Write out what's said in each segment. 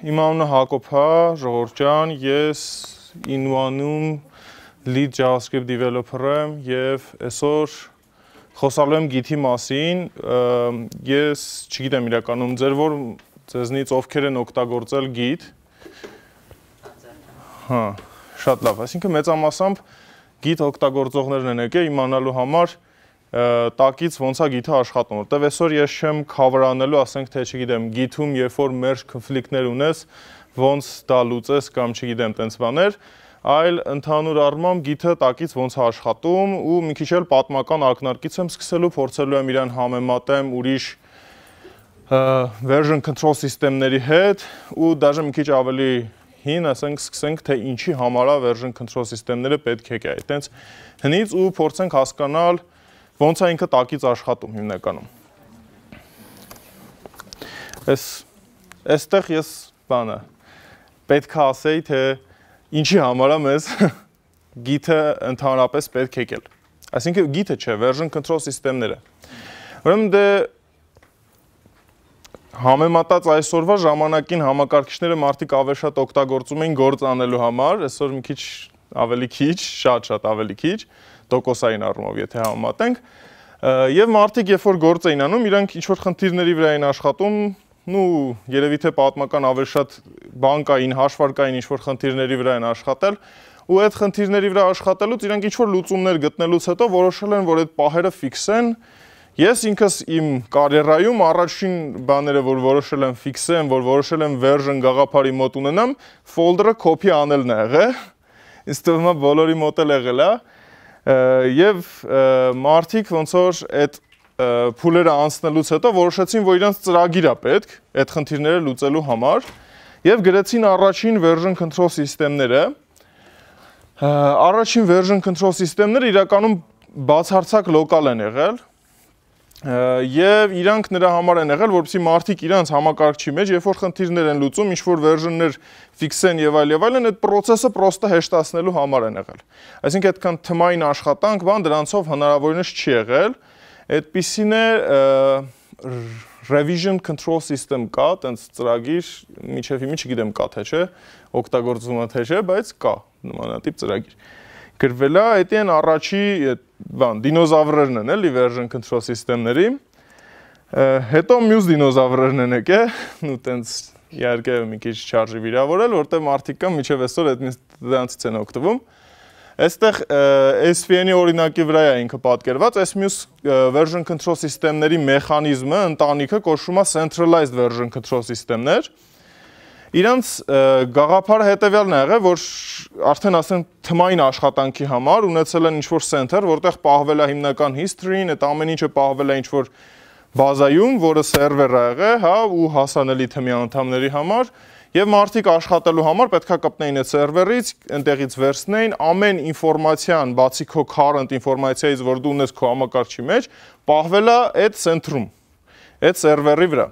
իմ անունը Հակոբ է, ժողովուրդ ջան, ես Innuanum lead JavaScript developer եմ եւ այսօր խոսալու եմ Git-ի մասին։ Ես չգիտեմ իրականում ձեզնից ովքեր են օգտագործել Git։ Հա, շատ լավ, այսինքն մեծամասամբ Git օգտագործողներն են եկել իմանալու համար տակից ոնց է Git-ը աշխատում, որտեվ այսօր ես չեմ cover անելու, ասենք թե չգիտեմ, Git-ում երբ որ merge conflict-ներ ունես, ոնց դա լուծես կամ չգիտեմ, տենց բաներ, այլ ընդհանուր առմամբ Git-ը տակից ոնց է աշխատում ու մի քիչ էլ պատմական ակնարկից եմ սկսելու, փորձելու եմ իրան համեմատեմ ուրիշ version control սիստեմների հետ ու դաժե մի քիչ ավելի հին, ասենք սկսենք թե ինչի համար է version control սիստեմները պետք է գա, այտենց հնից ու փորձենք հասկանալ ոնց է ինքը տակից աշխատում հիմնականում։ Այստեղ ես բանը պետք է ասեի, թե ինչի համար է մեզ Git-ը ընդհանրապես պետք է եկել։ Այսինքն Git-ը չէ, version control սիստեմները։ Ուրեմն դե համեմատած այսօրվա ժամանակին համակարգիչները մարդիկ ավելի շատ օգտագործում էին գործ անելու համար, այսօր մի քիչ ավելի քիչ, շատ ավելի քիչ տոկոսային առումով, եթե համեմատենք, եւ մարդիկ երբ որ գործ էին անում, իրանք ինչ-որ խնդիրների վրա էին աշխատում, երևի թե պատմական ավելի շատ բանկային, հաշվարկային ինչ-որ խնդիրների վրա են աշխատել, ու այդ խնդիրների վրա աշխատելուց իրանք ինչ-որ լուծումներ գտնելուց հետո որոշել են, որ այդ պահերը ֆիքսեն։ Ես ինքս իմ կարիերայում առաջին բաները, որ որոշել եմ ֆիքսեմ, որ որոշել եմ version գաղափարի մոտ ունենամ, folder-ը copy անելն է եղել։ Ինձ թվում է բոլորի մոտ էլ եղել է։ Եվ մարդիկ ոնց որ այդ փուլերը անցնելուց հետո որոշեցին, որ իրանց ծրագիր է պետք այդ խնդիրները լուծելու համար եւ գրեցին առաջին version control սիստեմները։ Առաջին version control սիստեմները իրականում բացարձակ լոկալ են եղել եւ իրանք նրա համար են եղել, որպեսզի մարդիկ իրանց համակարգչի մեջ, երբ որ խնդիրներ են լուծում, ինչ որ version-ներ ֆիքսեն եւ այլն, այդ process-ը պրոստը հեշտացնելու համար են եղել։ Այսինքն այդքան թմային աշխատանք, բան դրանցով հնարավորինս չի եղել։ Այդպիսին է revision control system կա, տենց ծրագիր, միջև հիմա չգիտեմ կա թե չէ, օգտագործվում է թե չէ, բայց կա նմանատիպ ծրագիր։ Գրվել է, դա են առաջի դինոզավրերն են, էլի version control սիստեմների։ Հետո մյուս դինոզավրերն են եկել, ու տենց իհարկե մի քիչ չարժի վիրավորել, որտեղ մարդիկ կան միջև այսօր դրանցից են օգտվում։ Այստեղ SVN-ի օրինակի վրա է ինքը պատկերված, այս մյուս version control սիստեմների մեխանիզմը, ընտանիքը կոչվում է centralized version control սիստեմներ։ Իրանց գաղափարը հետևյալն է եղել, որ արդեն ասեն թմային աշխատանքի համար ունեցել են ինչ-որ center, որտեղ պահվել է հիմնական history-ն, այդ ամեն ինչը պահվել է ինչ-որ բազայում, որը server-ը եղել, հա, ու հասանելի թմի անդամների համար, եւ մարդիկ աշխատելու համար պետքա կպնեին այդ server-ից, այնտեղից վերցնեին ամեն ինֆորմացիան, բացի քո current ինֆորմացիայից, որ դու ունես քո համակարգչի մեջ, պահվել է այդ center-ում, այդ server-ի վրա։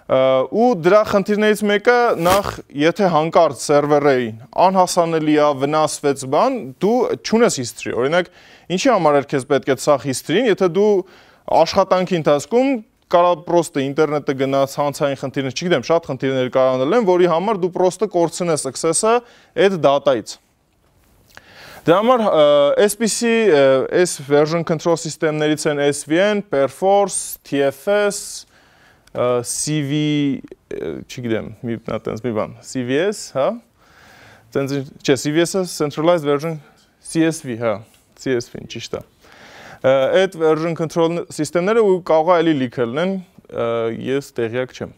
Ու դրա խնդիրներից մեկը նախ եթե հանկարծ սերվերին անհասանելի է, վնասվեց բան, դու չունես history։ Օրինակ, ինչի համար է քեզ պետք է սա history-ն, եթե դու աշխատանքի ընթացքում կարա պրոստը ինտերնետը գնաց, հանցային խնդիրներ, չգիտեմ, շատ խնդիրներ կարանալ են, որի համար դու պրոստը կորցնես access-ը այդ data-ից։ Դրա համար այսպիսի version control սիստեմներից են SVN, Perforce, TFS, CV, չգիտեմ, տենց մի բան, CVS, հա, չէ, CVS-ը Centralized Version, CSV, հա, CSV-ն, ճիշտ է։ Այդ version control սիստեմները ու կարող է էլի լիքել են, ես տեղյակ չեմ։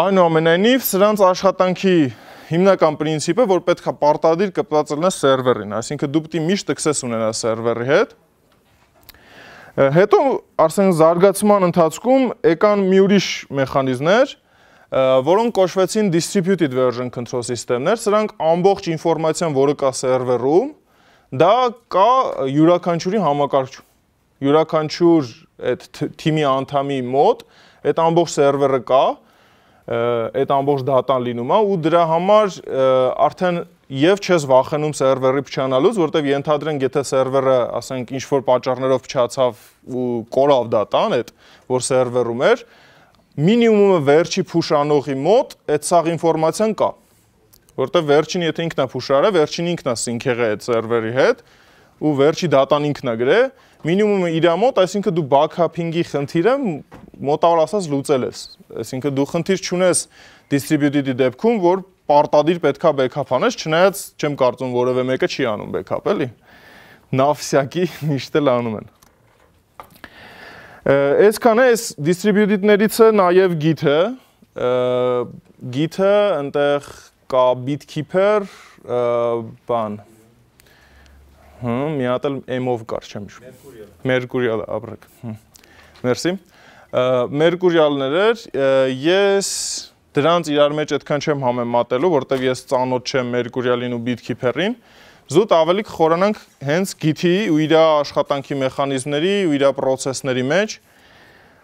Այնուամենայնիվ, սրանց աշխատանքի հիմնական պրինցիպը, որ պետք է պարտադիր կպված լինես սերվերին, այսինքն դու պետք է միշտ access ունենաս սերվերի հետ։ Հետո արդեն զարգացման ընթացքում եկան մի ուրիշ մեխանիզմներ, որոնք կոչվեցին distributed version control սիստեմներ, սրանք ամբողջ ինֆորմացիան, որը կա սերվերում, դա կա յուրաքանչյուրի համակարգչում։ Յուրաքանչյուր այդ թիմի անդամի մոտ այդ ամբողջ սերվերը կա, այդ ամբողջ դատան լինում է ու դրա համար արդեն եւ չես վախենում սերվերի փչանալուց, որտեվ ենթադրենք, եթե սերվերը, ասենք, ինչ-որ պատճառներով փչացավ ու կորավ դատան, այդ որ սերվերում էր, մինիմումը վերջի փուշանողի մոտ այդ սաղ ինֆորմացիան կա, որտեղ վերջին եթե ինքնա փուշարը, վերջին ինքնա սինքեղը այդ սերվերի հետ ու վերջի դատան ինքնա գրե, մինիմումը իր մոտ, այսինքն դու backup-ing-ի խնդիրը մոտավոր ասած լուծել ես, այսինքն դու խնդիր չունես distributed-ի դեպքում, որ պարտադիր պետքա backup անես, չնայած չեմ կարծում որևէ մեկը չի անում backup, էլի։ Նավսյակի միշտ էլ անում են։ Այսքանը այս distributed-ներից է նաև Git-ը, Git-ը այնտեղ կա BitKeeper, բան, մի հատ էլ M-ով կար, չեմ հիշում։ Mercurial, ապրեք։ Մերսի։ Mercurial-ներ էր, ես դրանց իրար մեջ այդքան չեմ համեմատելու, որտեղ ես ծանոթ չեմ Mercurial-ին ու BitKeeper-ին, զուտ ավելի կխորանանք հենց Git-ի ու իր աշխատանքի մեխանիզմների ու իր պրոցեսների մեջ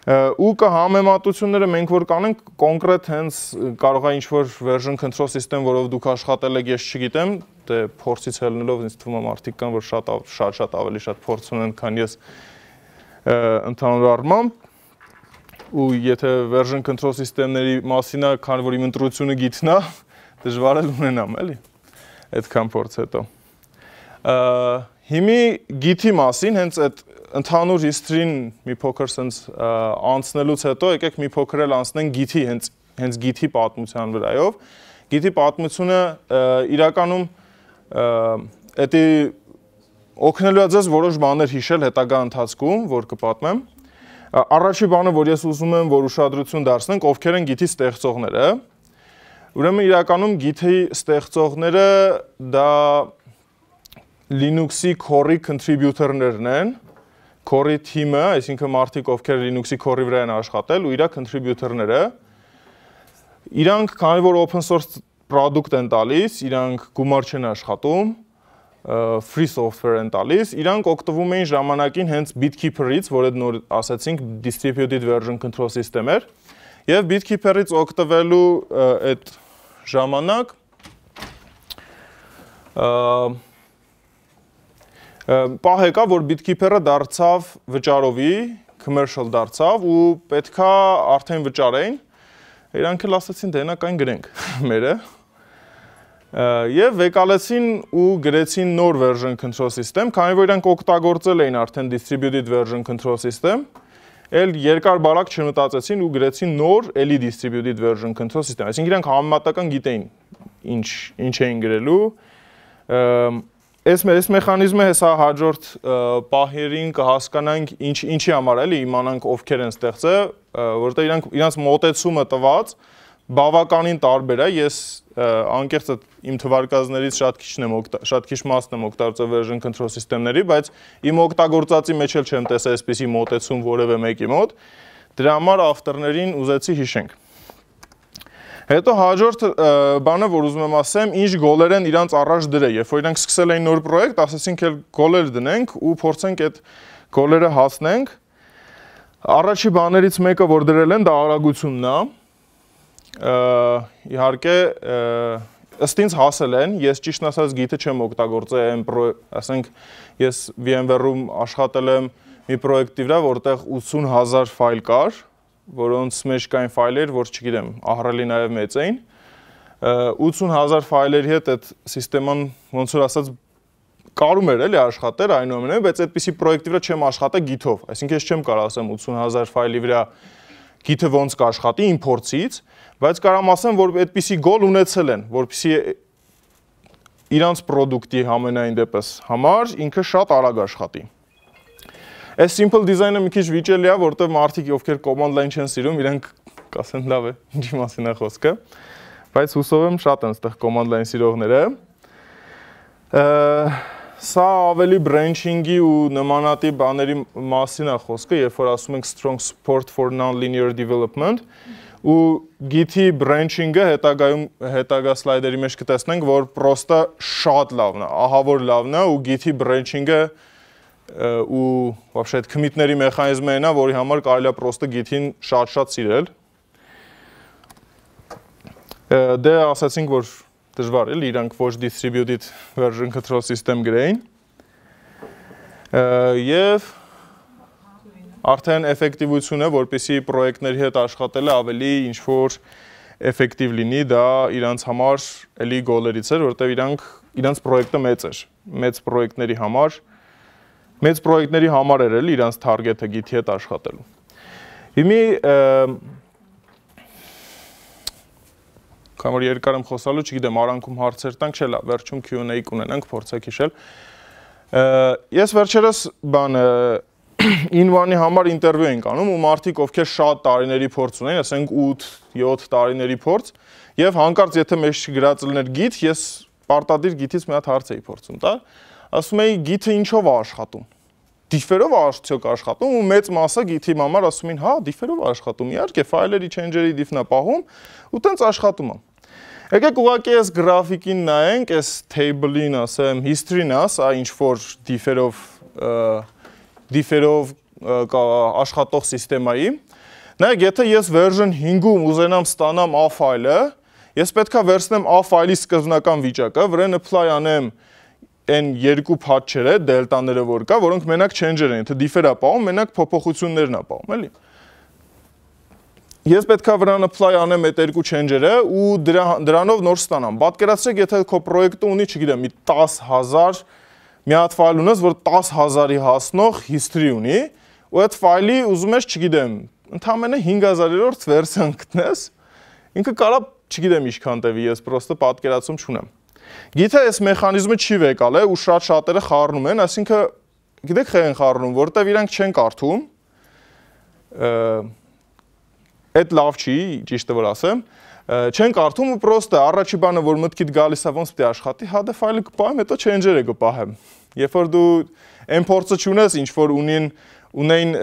ու կա համեմատությունները մենք որ կանենք կոնկրետ հենց կարող է ինչ-որ version control system, որով դուք աշխատել եք, ես չգիտեմ, դե փորձից ելնելով ինձ թվում է մարդիկ կան, որ շատ ավելի շատ փորձ ունեն, քան ես ընդհանուր առմամբ ու եթե version control system-ների մասին է, քանի որ իմ ընտրությունը Git-ն է, դժվար է ունենամ, էլի, այդքան փորձ հետո։ Հիմի Git-ի մասին, հենց այդ ընդհանուր history-ին մի փոքր sense անցնելուց հետո եկեք մի փոքր էլ անցնենք Git-ի հենց Git-ի պատմության վրայով։ Git-ի պատմությունը իրականում էդի օգնելու է ձեզ որոշ բաներ հիշել հետագա ընթացքում, որ կպատմեմ։ Առաջի բանը, որ ես ուզում եմ, որ ուշադրություն դարձնենք, ովքեր են Git-ի ստեղծողները։ Ուրեմն իրականում Git-ի ստեղծողները դա Linux-ի core contributor-ներն են, core team-ը, այսինքն մարդիկ, ովքեր Linux-ի core-ի վրա են աշխատել ու իր contributor-ները, իրանք քանի որ open source product են տալիս, իրանք գումար չեն աշխատում, free software են տալիս, իրանք օգտվում էին ժամանակին հենց BitKeeper-ից, որ այդ նոր ասացինք distributed version control system էր, եւ BitKeeper-ից օգտվելու այդ ժամանակ պահ եկա, որ BitKeeper-ը դարձավ վճարովի, commercial դարձավ ու պետքա արդեն վճարեին, իրանք էլ ասացին դե նա կային գրենք մերը եւ վեկալեցին ու գրեցին նոր version control system, քանի որ իրանք օգտագործել էին արդեն distributed version control system, էլ երկար բարակ չմտածեցին ու գրեցին նոր էլի distributed version control system, այսինքն իրանք համեմատական գիտեին ինչ էին գրելու Այս մեխանիզմը հեսա հաջորդ պահերին կհասկանանք ինչի համար էլի իմանանք ովքեր են ստեղծել, որտեղ իրանց մոտեցումը տված բավականին տարբեր է, ես անկեղծ իմ թվարկածներից շատ քիչ մասն եմ օգտագործել version control system-ների, բայց իմ օգտագործածի մեջ էլ չեմ տեսել այսպիսի մոտեցում որևէ մեկի մոտ, դրա համար ավտորներին ուզեցի հիշենք։ Հետո հաջորդ բանը, որ ուզում եմ ասեմ, ինչ գոլեր են իրանց առաջ դրել, երբ որ իրանք սկսել էին նոր պրոյեկտ, ասեցինք էլ գոլեր դնենք ու փորձենք այդ գոլերը հասնենք։ Առաջի բաներից մեկը, որ դրել են, դա արագությունն է։ Իհարկե, ըստ ինձ հասել են, ես ճիշտն ասած Git-ը չեմ օգտագործել, ասենք ես VMware-ում աշխատել եմ մի պրոյեկտի վրա, որտեղ 80,000 ֆայլ կար, որոնց մեջ կային ֆայլեր, որ չգիտեմ, ահռելի նաև մեծ էին, 80,000 ֆայլերի հետ այդ սիստեման ոնց որ ասած կարում էր էլի աշխատել այնուամենայնիվ, բայց այդպիսի պրոյեկտի վրա չեմ աշխատել Git-ով, այսինքն ես չեմ կարող ասեմ 80,000 ֆայլի վրա Git-ը ոնց կաշխատի իմ փորձից, բայց կարամ ասեմ, որ այդպիսի գոլ ունեցել են, որպեսզի իրանց պրոդուկտի համենայն դեպս համար ինքը շատ արագ աշխատի։ Այս simple design-ը մի քիչ վիճելի է, որտեղ մարդիկ, ովքեր command line չեն սիրում, իրենք կասեն լավ է, ինչի մասին է խոսքը, բայց հուսով եմ շատ են այդտեղ command line սիրողները։ Սա ավելի branching-ի ու նմանատիպ բաների մասին է խոսքը, երբ որ ասում ենք strong support for non-linear development, ու Git-ի branching-ը հետագա սլայդերի մեջ կտեսնենք, որ պրոստը շատ լավն է, ահավոր լավն է ու Git-ի branching-ը ու вообще այդ commit-ների մեխանիզմը այնա, որի համար կարելի է պրոստը Git-ին շատ-շատ սիրել։ Դե ասացինք, որ դժվար էլի իրանք ոչ distributed version control system գրեին։ Եվ արդեն էֆեկտիվությունը, որպեսզի պրոյեկտների հետ աշխատելը ավելի ինչ-որ էֆեկտիվ լինի, դա իրանց համար էլի գոլերից էր, որտեղ իրանց պրոյեկտը մեծ էր, մեծ պրոյեկտների համար էր էլի իրանց թարգեթը Git-ի հետ աշխատելու։ Հիմի կամ որ երկար եմ խոսալու, չգիտեմ, արանքում հարցեր տանք, չէ՞ լավ, վերջում Q&A կունենանք, փորձեք հիշել։ Ես վերջերս in1-ի համար ինտերվյու ենք անում ու մարդիկ ովքեր շատ տարիների փորձ ունեն, ասենք 8-7 տարիների փորձ, եւ հանկարծ եթե մեզ չգրած լիներ Git, ես պարտադիր Git-ից մի հատ հարց էի փորձում տալ, ասում էի Git-ը ինչով է աշխատում։ Differ-ով արդյոք աշխատում ու մեծ մասը Git-ի համար ասում են, հա, differ-ով աշխատում, իհարկե, ֆայլերի change-երի diff-ն է պահում ու տենց աշխատում է։ Եկեք ուղղակի այս գրաֆիկին նայենք, այս table-ին, ասեմ, history-ն է, սա ինչ որ differ-ով աշխատող սիստեմայի։ Նայեք, եթե ես version 5-ում ուզենամ ստանամ A ֆայլը, ես պետք է վերցնեմ A ֆայլի սկզբնական վիճակը, վրան apply անեմ այն երկու փաթչերը, դելտաները որ կա, որոնք մենակ change-եր են, եթե differ-ը պահում, մենակ փոփոխություններն է պահում, էլի։ Ես պետք է վրան apply անեմ այդ երկու change-երը ու դրանով նոր ստանամ։ Պատկերացրեք, եթե քո պրոյեկտը ունի, չգիտեմ, մի 10,000 մի հատ ֆայլ ունես, որ 10,000-ի հասնող history ունի, ու այդ ֆայլի ուզում ես, չգիտեմ, ընդամենը 5000-րդ վերսիան գտնես, ինքը կարա, չգիտեմ ինչքան տևի, ես պրոստը պատկերացում չունեմ։ Գիտե այս մեխանիզմը չի վեկալ է ու շատ-շատերը խառնում են, այսինքն գիտեք խեղ են խառնում, որտեվ իրանք չեն կարդում, այդ լավ չի, ճիշտը որ ասեմ, չեն կարդում ու պրոստը առաջի բանը, որ մտքիդ գալիս է ոնց պետք է աշխատի, հա դե ֆայլը կպահեմ, հետո change-երը կպահեմ։ Երբ որ դու այն փորձը չունես, ինչ որ ունեին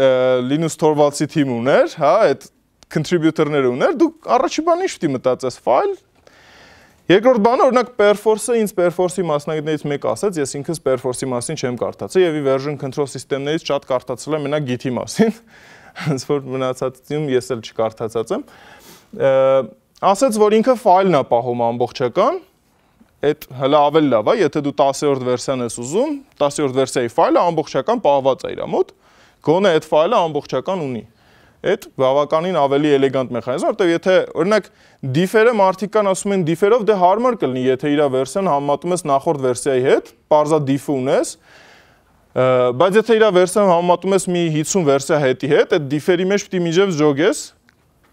Linux Torvalds-ի թիմ ուներ, հա, այդ contributor-ները ուներ, դու առաջի բանը ինչ պետք է մտածես, ֆայլ։ Երկրորդ բանը, օրինակ Perforce-ը ինձ Perforce-ի մասնագետներից մեկ ասաց, ես ինքս Perforce-ի մասին չեմ կարդացել եւ version control system-ներից շատ կարդացել եմ մենակ Git-ի մասին, հենց որ մնացածում ես էլ չկարդացած եմ։ Ասաց, որ ինքը ֆայլն է պահում ամբողջական, այդ հələ ավելի լավ է, եթե դու 10-րդ վերսիան ես ուզում, 10-րդ վերսիայի ֆայլը ամբողջական պահված է իր մոտ, գոնե այդ ֆայլը ամբողջական ունի։ Այդ բավականին ավելի էլեգանտ մեխանիզմ, որտեղ եթե օրինակ differ-ը մարդիկ կան ասում են differ-ով դե հարմար կլինի, եթե իր վերսիան համեմատում ես նախորդ վերսիայի հետ, պարզա diff-ը ունես, բայց եթե իր վերսիան համեմատում ես մի 50 վերսիա հետի հետ, այդ differ-ի մեջ պիտի միջև ջոգես,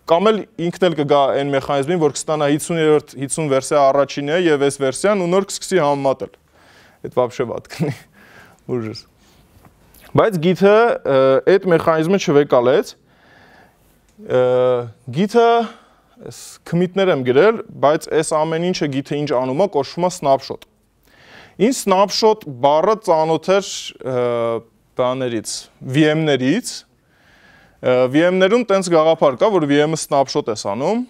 կամ էլ ինքն էլ կգա այն մեխանիզմին, որ կստանա 50 վերսիա առաջինը եւ այս վերսիան ու նոր կսկսի համեմատել։ Այդ вообще վատ կլինի։ Ուժս։ Բայց Git-ը այդ մեխանիզմը չվեկալեց։ Git-ը commit-ներ եմ գրել, բայց այս ամեն ինչը Git-ը ինչ անում է, կոչվում է snapshot։ Ինչ snapshot բառը ծանոթ էր բաներից, VM-ներից։ VM-ներում տենց գաղափար կա, որ VM-ը snapshot ես անում,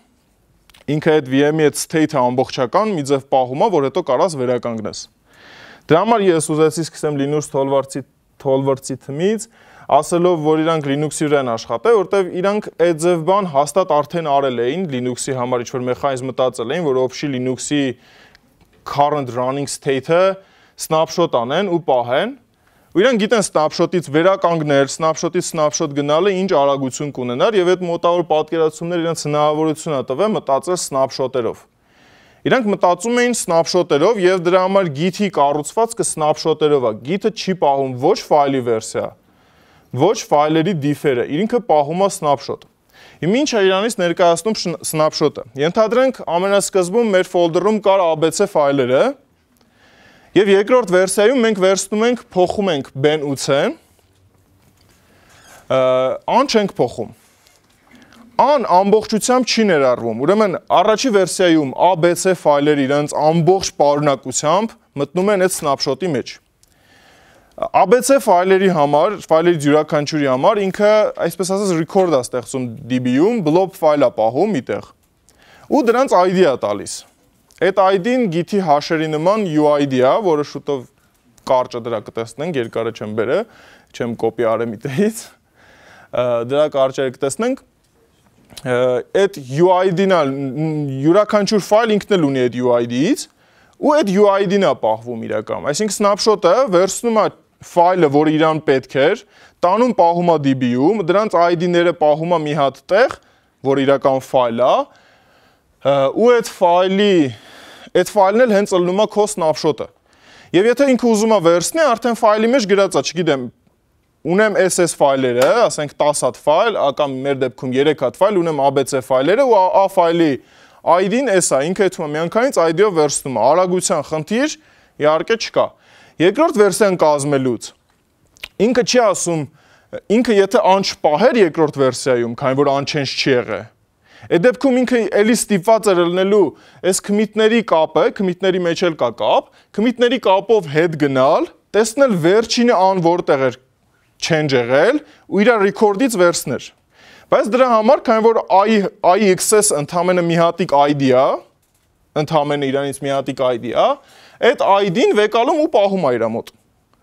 ինքը այդ VM-ի այդ state-ը ամբողջական մի ձև պահում է, որ հետո կարաս վերականգնես։ Դրա համար ես ուզեցի սկսեմ Linux Torvalds-ի թմից, ասելով, որ իրանք Linux-ի վրա են աշխատել, որտեվ իրանք այդ ձև բան հաստատ արդեն արել էին Linux-ի համար ինչ-որ մեխանիզմ մտածել էին, որ օբշի Linux-ի current running state-ը snapshot անեն ու պահեն, ու իրանք գիտեն snapshot-ից վերականգնել, snapshot-ից snapshot գնալը ինչ արագություն կունենար եւ այդ մոտավոր պատկերացումները իրանք հնարավորություն է տվել մտածել snapshot-երով։ Իրանք մտածում էին snapshot-երով եւ դրա համար Git-ի կառուցվածքը snapshot-երով է։ Git-ը չի պահում ոչ ֆայլի վերսիա, ոչ ֆայլերի differ-ը, ինքը պահում է snapshot։ Հիմա ինչ է իրանից ներկայացնում snapshot-ը։ Ենթադրենք ամենասկզբում մեր folder-ում կար ABC ֆայլերը եւ երկրորդ վերսիայում մենք վերցնում ենք, փոխում ենք ben ու c-ն, an չենք փոխում։ An ամբողջությամբ չի ներառվում։ Ուրեմն առաջի վերսիայում ABC ֆայլերը իրենց ամբողջ պարունակությամբ մտնում են այդ snapshot-ի մեջ։ ABC ֆայլերի համար, ֆայլերի յուրաքանչյուրի համար ինքը, այսպես ասած, record է ստեղծում DB-ում, blob ֆայլ է պահում միտեղ։ Ու դրանց ID է տալիս։ Այդ ID-ն Git-ի հաշերի նման UID է, որը շուտով կարճը դրա կտեսնենք, երկարը չեմ բերել, չեմ կոպի արել միտեղից։ Դրա կարճերը կտեսնենք։ Այդ UID-ն է, յուրաքանչյուր ֆայլ ինքն էլ ունի այդ UID-ից, ու այդ UID-ն է պահվում իրականում։ Այսինքն snapshot-ը վերցնում է ֆայլը, որը իրան պետք էր, տանում պահում է DB-ում, դրանց ID-ները պահում է մի հատ տեղ, որ իրական ֆայլ է, ու այդ ֆայլն էլ հենց ելնում է քո snapshot-ը։ Եվ եթե ինքը ուզում է վերցնի, արդեն ֆայլի մեջ գրած է, չգիտեմ, ունեմ SS ֆայլերը, ասենք 10 հատ ֆայլ, կամ մեր դեպքում 3 հատ ֆայլ, ունեմ ABC ֆայլերը ու A ֆայլի ID-ն էս է, ինքը այդում է միանգամից ID-ով վերցնում է, արագության խնդիր իհարկե չկա։ Երկրորդ վերսիան կազմելուց ինքը չի ասում, ինքը եթե անչպահեր երկրորդ վերսիայում, քանի որ unchanged չի եղել, այդ դեպքում ինքը էլի ստիպված է ելնելու այս commit-ների կապը, commit-ների մեջ էլ կա կապ, commit-ների կապով հետ գնալ, տեսնել վերջինը ան որտեղ էր change եղել ու իր record-ից վերցներ։ Բայց դրա համար, քանի որ IXS ընդամենը մի հատիկ ID է, ընդամենը իրանից մի հատիկ ID է, այդ ID-ն վեկալում ու պահում է իր մոտ։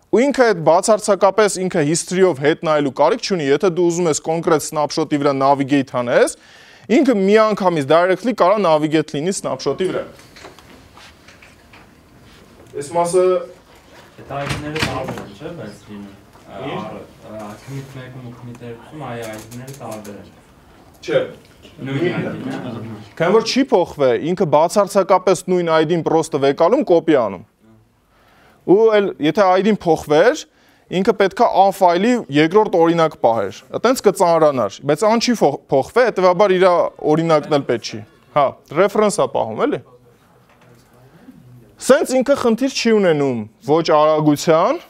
Ու ինքը այդ բացարձակապես ինքը history-ով հետ նայելու կարիք չունի, եթե դու ուզում ես կոնկրետ snapshot-ի վրա navigate անես, ինքը միանգամից directly կարա navigate լինի snapshot-ի վրա։ Այս մասը այդ ID-ները տարբեր են, չէ՞, բայց լինում։ Commit 1-ում ու commit 2-ում ID-ները տարբեր են։ Չէ։ Նույն ID-ն է։ Քանի որ չի փոխվել, ինքը բացարձակապես նույն ID-ն պրոստը վեկալում կոպի անում։ Ու էլ եթե ID-ն փոխվեր, ինքը պետքա ան ֆայլի երկրորդ օրինակ պահեր։ Այտենց կծանրանար, բայց ան չի փոխվել, հետեւաբար իր օրինակն էլ պետք չի։ Հա, ռեֆերենս է պահում, էլի։ Սենց ինքը խնդիր չի ունենում ոչ արագության,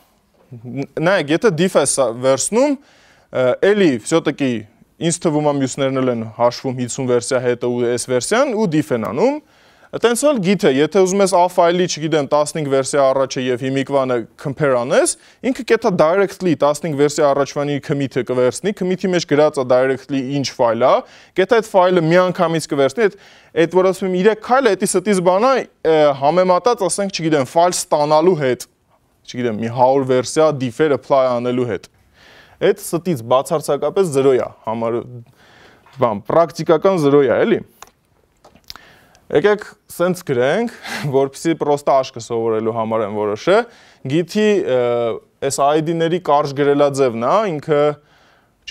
նայեք, եթե diff է վերցնում, էլի всё-таки ինձ թվում է մյուսներն էլ են հաշվում 50 վերսիա հետը ու այս վերսիան ու diff են անում։ Այտենց էլ գիտե, եթե ուզում ես A ֆայլի, չգիտեմ, 15 վերսիա առաջը եւ հիմիկվանը compare անես, ինքը կետա directly 15 վերսիա առաջվանի commit-ը կվերցնի, commit-ի մեջ գրած է directly ինչ ֆայլ է, կետա այդ ֆայլը միանգամից կվերցնի, այդ որ ասում եմ 3 քայլը, էդի ստից բանա համեմատած, ասենք, չգիտեմ, ֆայլ ստանալու հետ, չգիտեմ, մի 100 վերսիա diff-եր apply անելու հետ։ Այդ ստից բացարձակապես 0 է, համար բան, պրակտիկական 0 է, էլի։ Եկեք սենց գրենք, որպեսզի պրոստը աշկը սովորելու համար են որոշը, գիթի այս ID-ների կարճ գրելաձևն է, ինքը,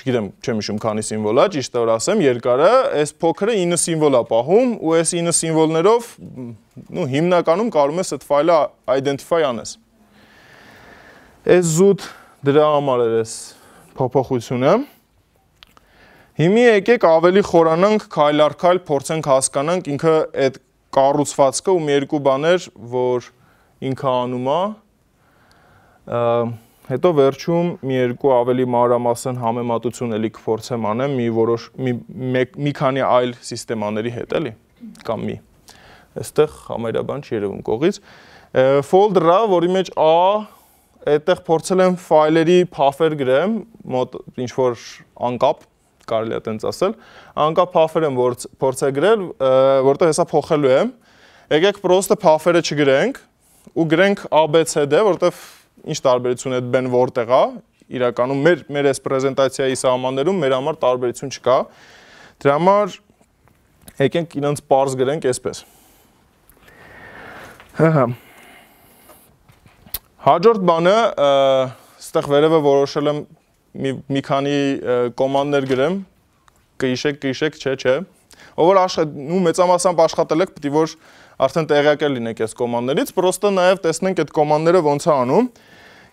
չգիտեմ, չեմ հիշում քանի սիմվոլ է, ճիշտ է որ ասեմ, երկարը, այս փոքրը 9 սիմվոլ է պահում, ու այս 9 սիմվոլներով, հիմնականում կարում ես այդ ֆայլը identify անես։ Այս զուտ դրա համար էր այս փոփոխությունը։ Հիմի եկեք ավելի խորանանք քայլ առ քայլ փորձենք հասկանանք ինքը այդ կառուցվածքը ու մի երկու բաներ, որ ինքը անում է, հետո վերջում մի երկու ավելի մանրամասն համեմատություն էլի կփորձեմ անեմ մի քանի այլ սիստեմաների հետ, էլի, կամ մի։ Այստեղ համարյաբան չի երևում կողից։ Folder-ը, որի մեջ այդտեղ փորձել եմ ֆայլերի փաֆեր գրեմ, մոտ ինչ որ անկապ կարելի է տենց ասել, անկապ փաֆեր եմ փորձել գրել, որտեղ հեսա փոխելու եմ, եկեք պրոստը փաֆերը չգրենք, ու գրենք ABCD, որտեղ ինչ տարբերություն է բեն որտեղ է, իրականում մեր այս պրեզենտացիայի սահմաններում մեր համար տարբերություն չկա, դրա համար եկենք իրենց պարզ գրենք այսպես։ Հաջորդ բանը, ստեղ վերևը որոշել եմ մի քանի կոմանդներ գրեմ, կհիշեք, չէ։ Ով որ մեծամասամբ աշխատել եք, պետք է որ արդեն տեղյակ լինեք այս կոմանդներից, պրոստը նաև տեսնենք այդ կոմանդները ոնց է անում։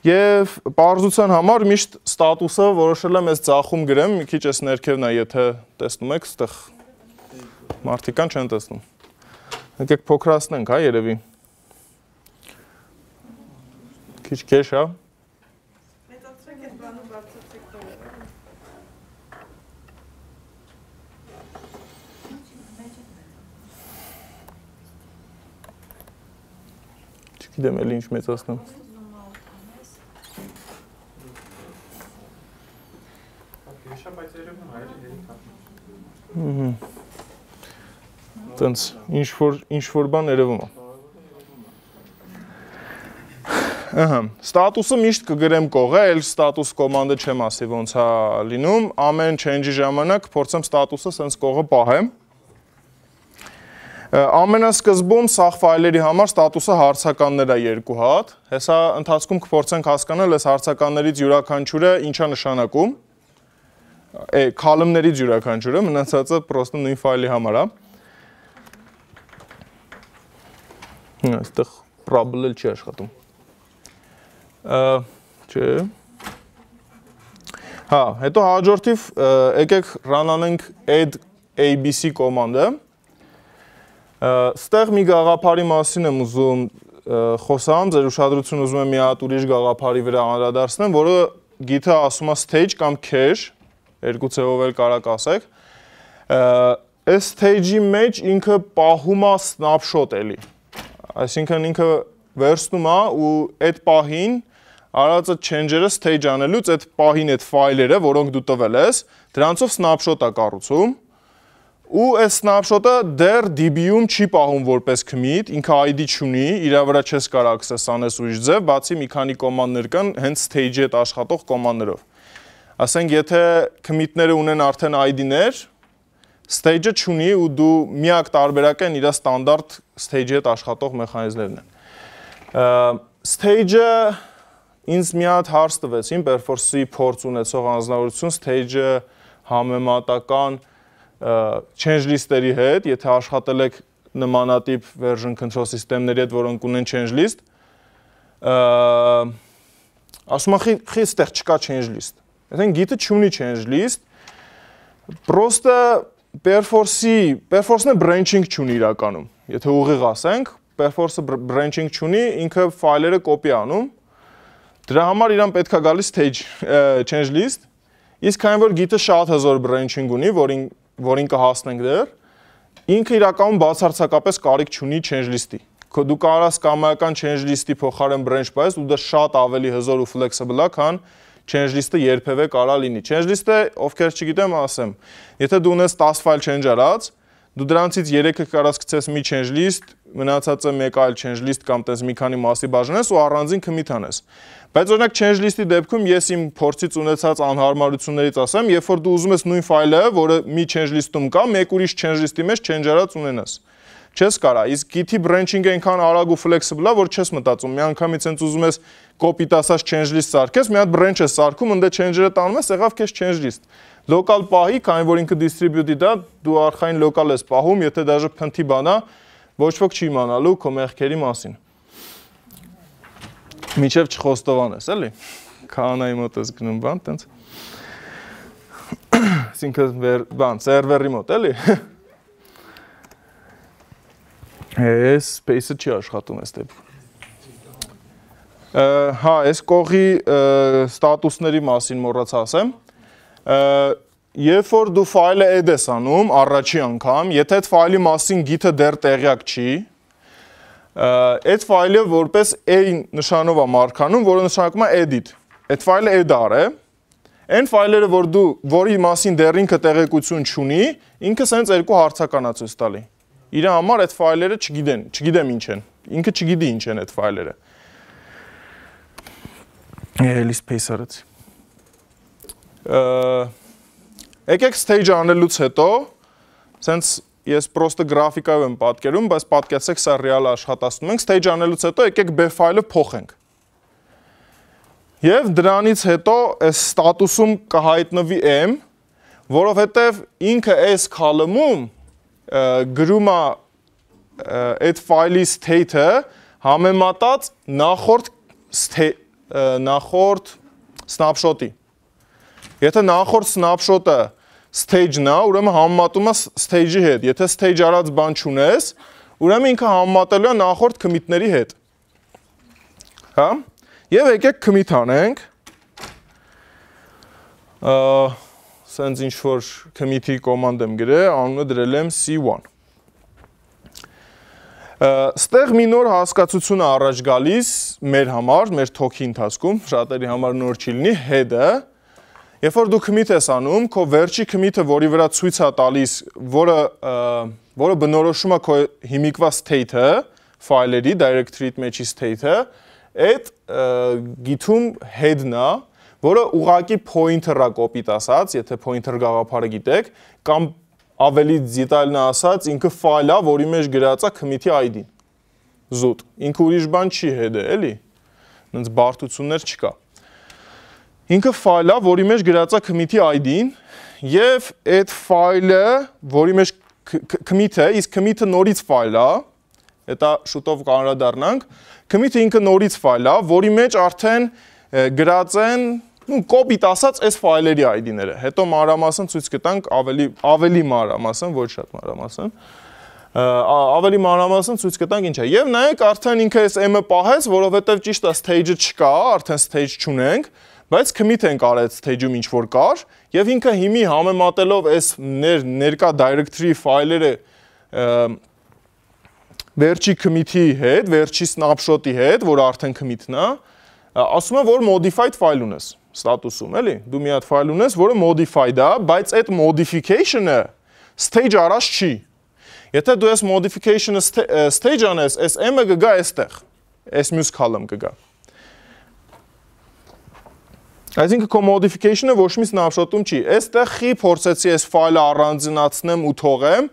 Եվ պարզության համար միշտ ստատուսը որոշել եմ այս ձախում գրեմ, մի քիչ այս ներքևն է, եթե տեսնում եք, ստեղ մարդիկան չեն տեսնում։ Եկեք փոքրացնենք, հա, երևի։ Քիչ քեշ, հա։ Չգիտեմ էլի ինչ մեծացնեմ։ Տենց ինչ որ բան երևում է։ Ստատուսը միշտ կգրեմ կողը, էլ ստատուս կոմանդը չեմ ասի ոնց է լինում, ամեն change-ի ժամանակ փորձեմ ստատուսը սենց կողը պահեմ։ Ամենասկզբում սաղ ֆայլերի համար ստատուսը հարցականներ է 2 հատ։ Հեսա ընթացքում կփորձենք հասկանալ այս հարցականներից յուրաքանչյուրը ինչա նշանակում։ Column-ներից յուրաքանչյուրը, մնացածը պրոստը նույն ֆայլի համար է։ Այստեղ probable չի աշխատում։ Չէ։ Հա, հետո հաջորդիվ եկեք run անենք add abc կոմանդը։ Ստեղ մի գաղափարի մասին եմ ուզում խոսամ, ձեր ուշադրությունը ուզում եմ մի հատ ուրիշ գաղափարի վրա անդրադարձնեմ, որը գիթը ասում է stage կամ cache, երկու ձևով էլ կարաք ասեք։ Այս stage-ի մեջ ինքը պահում է snapshot էլի։ Այսինքն ինքը վերցնում է ու այդ պահին արածը change-երը stage անելուց այդ պահին այդ ֆայլերը, որոնք դու տվել ես, դրանցով snapshot է կառուցում։ Ու այս snapshot-ը դեռ DB-ում չի պահում որպես commit, ինքը ID չունի, իր վրա չես կարող access անես ուրիշ ձև, բացի մի քանի կոմանդներ կան հենց stage-ի հետ աշխատող կոմանդներով։ Ասենք, եթե commit-ները ունեն արդեն ID-ներ, stage-ը չունի ու դու միակ տարբերակը իր ստանդարտ stage-ի հետ աշխատող մեխանիզմներն են։ Stage-ը ինձ մի հատ հարց տվեցին, Perforce-ի փորձ ունեցող անձնավորություն, stage-ը համեմատական change list-երի հետ, եթե աշխատել եք նմանատիպ version control system-ների հետ, որոնք ունեն change list, ասում եմ, խի ստեղ չկա change list։ Այսինքն գիտը չունի change list, պրոստը Perforce-ն branching չունի իրականում։ Եթե ուղիղ ասենք, Perforce-ը branching չունի, ինքը ֆայլերը կոպի անում։ Դրա համար իրան պետք է գալիս change list, իսկ քանի որ գիտը շատ հզոր branching ունի, որին կհասնենք դեռ, ինքը իրականում բացարձակապես կարիք չունի change list-ի։ Դու կարող ես կամայական change list-ի փոխարեն branch պահես, ու դա շատ ավելի հզոր ու flexible է, քան change list-ը երբևէ կարա լինի։ Change list-ը, ովքեր չգիտեմ, ասեմ, եթե դու ունես 10 ֆայլ change արած, դու դրանցից 3-ը կարաս գցես մի change list, մնացածը մեկ այլ change list կամ տես մի քանի մասի բաժանես ու առանձին commit անես։ Բայց օրինակ change list-ի դեպքում ես իմ փորձից ունեցած անհարմարություններից ասեմ, երբ որ դու ուզում ես նույն ֆայլը, որը մի change list-ում կա, մեկ ուրիշ change list-ի մեջ change արած ունենաս։ Չես կարա, իսկ Git-ի branching-ը այնքան արագ ու flexible է, որ չես մտածում, միանգամից հենց ուզում ես copy տասած change list սարքես, մի հատ branch ես սարքում, ընդ change-երը տանում ես, եղավ քեզ change list։ Local պահի, քանի որ ինքը distributed է, դու արխային local ես պահում, եթե դաժե փնթի բան է, ոչ ոք չի իմանալու քո մեղքերի մասին։ Միջև չխոստովանես, էլի։ Քահանայի մոտ ես գնում բան, տենց։ Այսինքն բան, սերվերի մոտ, էլի։ Այս space-ը չի աշխատում այս դեպքում։ Հա, այս կողի ստատուսների մասին մոռացա ասեմ։ Երբ որ դու ֆայլը add ես անում, առաջի անգամ, եթե այդ ֆայլի մասին գիթը դեռ տեղյակ չի, այդ ֆայլը որպես a նշանով է մարգանում, որը նշանակում է edit։ Այդ ֆայլը add արե, այն ֆայլերը, որի մասին դեռ ինքը տեղեկություն չունի, ինքը սենց երկու հարցական է ցույց տալի։ Իր համար այդ ֆայլերը չգիտեմ ինչ են։ Ինքը չգիտի ինչ են այդ ֆայլերը։ Էլի space արեցի։ Եկեք stage անելուց հետո, սենց ես պրոստը գրաֆիկայով եմ պատկերում, բայց պատկերացեք սա ռեալ աշխատացնում ենք, stage անելուց հետո եկեք b ֆայլը փոխենք։ Եվ դրանից հետո այս ստատուսում կհայտնվի m, որովհետև ինքը այս column-ում գրում է այդ ֆայլի state-ը համեմատած նախորդ snapshot-ի։ Եթե նախորդ snapshot-ը stage-ն է, ուրեմն համեմատում է stage-ի հետ։ Եթե stage արած բան չունես, ուրեմն ինքը համեմատելու է նախորդ commit-ների հետ։ Հա? Եվ եկեք commit անենք։ Սենց ինչ-որ commit-ի կոմանդ եմ գրել, անունը դրել եմ C1։ Ստեղ մի նոր հասկացություն է առաջ գալիս մեր համար, մեր talk-ի ընթացքում, շատերի համար նոր չի լինի, head-ը։ Երբ որ դու commit ես անում, քո վերջի commit-ը, որի վրա ցույց է տալիս, որը բնորոշում է քո հիմիկվա state-ը, ֆայլերի, directory-ի մեջի state-ը, այդ գիթում head-ն է, որը ուղղակի pointer-ը կոպիտ ասած, եթե pointer գաղափարը գիտեք, կամ ավելի դետալնա ասած, ինքը ֆայլ է, որի մեջ գրած է commit-ի ID-ն։ Զուտ։ Ինքը ուրիշ բան չի հետը, էլի։ Նենց բարդություններ չկա։ Ինքը ֆայլ է, որի մեջ գրած է commit-ի ID-ն, եւ այդ ֆայլը, որի մեջ commit-ը, իսկ commit-ը նորից ֆայլ է, դա շուտով կանրադառնանք, commit-ը ինքը նորից ֆայլ է, որի մեջ արդեն գրած են կոպիտ ասած այս ֆայլերի ID-ները։ Հետո մանրամասն ցույց կտանք ավելի մանրամասն, ոչ շատ մանրամասն։ Ավելի մանրամասն ցույց կտանք ինչ է։ Եվ նայեք, արդեն ինքը այս M-ը պահեց, որովհետև ճիշտ է stage-ը չկա, արդեն stage չունենք, բայց commit ենք արել stage-ում ինչ որ կար, եւ ինքը հիմի համեմատելով այս ներկա directory ֆայլերը վերջի commit-ի հետ, վերջի snapshot-ի հետ, որ արդեն commit-ն է, ասում է, որ modified file ունես ստատուսում, էլի։ Դու մի հատ ֆայլ ունես, որը modified է, բայց այդ modification-ը stage առած չի։ Եթե դու այս modification-ը stage անես, այս M-ը կգա այստեղ, այս մյուս column կգա։ Այսինքն քո modification-ը ոչ մի snapshot-ում չի։ Այստեղ խի փորձեցի այս ֆայլը առանձնացնեմ ու թողեմ,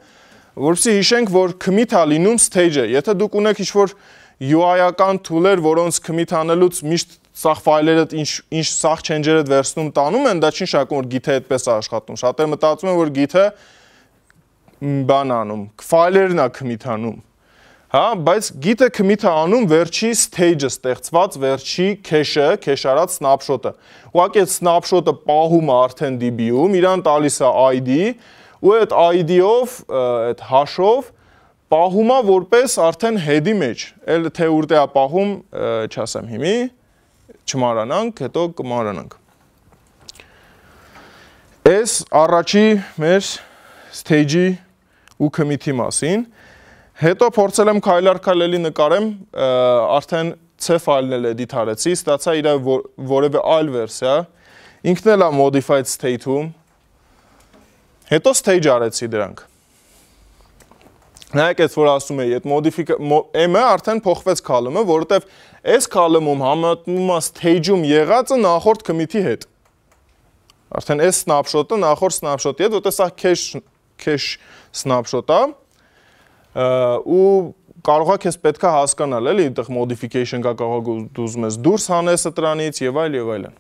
որովհետեւ հիշենք, որ commit-ը լինում stage-ը։ Եթե դուք ունեք ինչ-որ UI-ական tool-եր, որոնց commit անելուց միշտ սաղ ֆայլերը ինչ սաղ change-երը վերցնում տանում են, դա չի նշանակում, որ Git-ը այդպես է աշխատում։ Շատերը մտածում են, որ Git-ը բան անում, ֆայլերն է commit անում։ Հա, բայց Git-ը commit-ը անում վերջի stage-ը ստեղծված վերջի cache-ը, cache արած snapshot-ը։ Ուղղակի այդ snapshot-ը պահում է արդեն DB-ում, իրան տալիս է ID, ու այդ ID-ով, այդ hash-ով պահում է որպես արդեն head-ի մեջ։ Էլ թե ուր է պահում, չասեմ հիմի, չմանրանանք, հետո կմանրանանք։ Այս առաջի մեր stage-ի ու commit-ի մասին, հետո փորձել եմ քայլ-առ-քայլ էլի նկարեմ, արդեն C ֆայլն էլ edit արեցի, ստացա իր որևէ այլ վերսիա, ինքն էլ է modified state-ում, հետո stage արեցի դրանք։ Նայեք այս որ ասում էի, այդ M-ը արդեն փոխվեց column-ը, որովհետև այս column-ում համատնում է stage-ում եղածը նախորդ commit-ի հետ։ Արդեն այս snapshot-ը նախորդ snapshot-ի հետ, որտեղ սա cache snapshot-ը, ու կարող է քեզ պետքա հասկանալ, էլի, այդտեղ modification կա, կարող է դու ուզում ես դուրս հանես դրանից եւ այլն։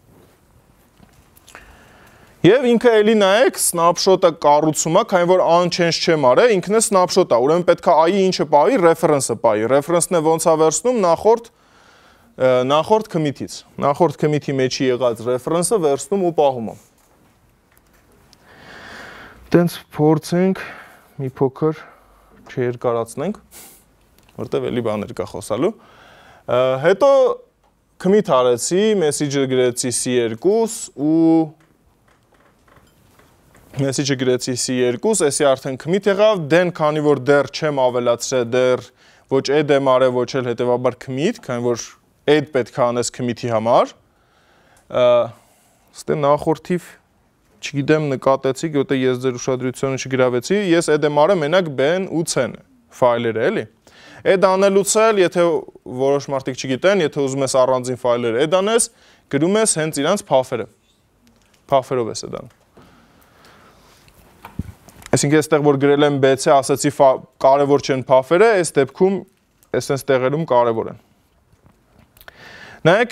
Եվ ինքը էլի նայեք, snapshot-ը կառուցում է, քանի որ unchanged չեմ արել, ինքն է snapshot-ը, ուրեմն պետքա AI-ի ինչը պահի, reference-ը պահի։ Reference-ն է ոնց է վերցնում նախորդ commit-ից։ Նախորդ commit-ի մեջի եղած reference-ը վերցնում ու պահում է։ Տենց փորձենք մի փոքր չերկարացնենք, որտեղ էլի բաներ կա խոսալու։ Հետո commit արեցի, message-ը գրեցի C2 ու message-ը գրեցի C2, էսի արդեն commit եղավ, դեն քանի որ դեռ չեմ ավելացրել, դեռ ոչ add եմ արել, ոչ էլ հետևաբար commit, քանի որ add պետք է անես commit-ի համար։ Ստե նախորդիվ չգիտեմ նկատեցիք, որտեղ ես ձեր ուշադրությունը չգրավեցի, ես add եմ արել մենակ B-ն ու C-ն ֆայլերը, էլի։ Add անելուց էլ, եթե որոշ մարդիկ չգիտեն, եթե ուզում ես առանձին ֆայլեր add անես, գրում ես հենց իրանց path-երը։ Path-երով ես add անում։ Այսինքն այստեղ որ գրել եմ B-C, ասացի կարևոր չեն path-երը, այս դեպքում այսպես տեղերում կարևոր են։ Նայեք,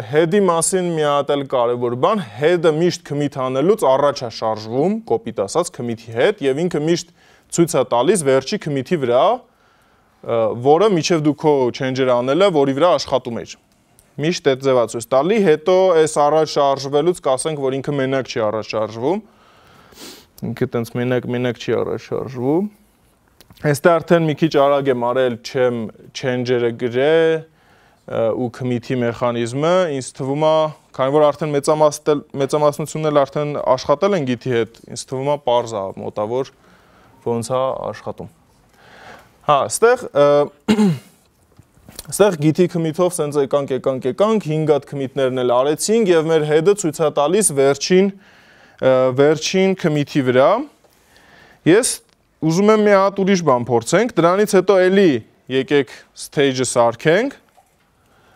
head-ի մասին մի հատ էլ կարևոր բան, head-ը միշտ commit անելուց առաջ է շարժվում, կոպիտ ասած commit-ի հետ, եւ ինքը միշտ ցույց է տալիս վերջի commit-ի վրա, որը միջև դու քո change-ը անել է, որի վրա աշխատում էր։ Միշտ այդ ձևա ցույց տալի, հետո այս առաջ շարժվելուց կասենք, որ ինքը մենակ չի առաջ շարժվում։ Ինքը տենց մենակ չի առաջ շարժվում։ Այստեղ արդեն մի քիչ արագ եմ արել, չեմ change-երը գրել ու commit-ի մեխանիզմը, ինձ թվում է, քանի որ արդեն մեծամասնությունն էլ արդեն աշխատել են Git-ի հետ, ինձ թվում է պարզ է մոտավոր ոնց է աշխատում։ Հա, այստեղ Git-ի commit-ով սենց եկանք, 5 հատ commit-ներն էլ արեցինք եւ մեր head-ը ցույց է տալիս վերջին commit-ի վրա։ Ես ուզում եմ մի հատ ուրիշ բան փորձենք, դրանից հետո էլի եկեք stage-ը սարքենք։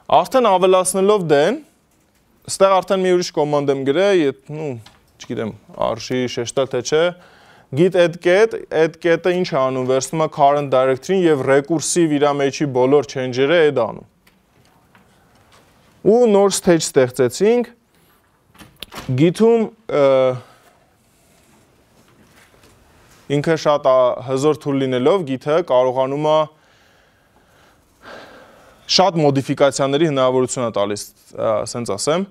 Արդեն ավելացնելով դեն, ստեղ արդեն մի ուրիշ կոմանդ եմ գրել, չգիտեմ, արժի շեշտել թե չէ, git add get-ը ինչ է անում, վերցնում է current directory-ին եւ recursive իր մեջի բոլոր change-երը add անում։ Ու նոր stage ստեղծեցինք, git-ում ինքը շատ հզոր tool լինելով git-ը կարողանում է շատ մոդիֆիկացիաների հնարավորություն է տալիս, ասենց ասեմ։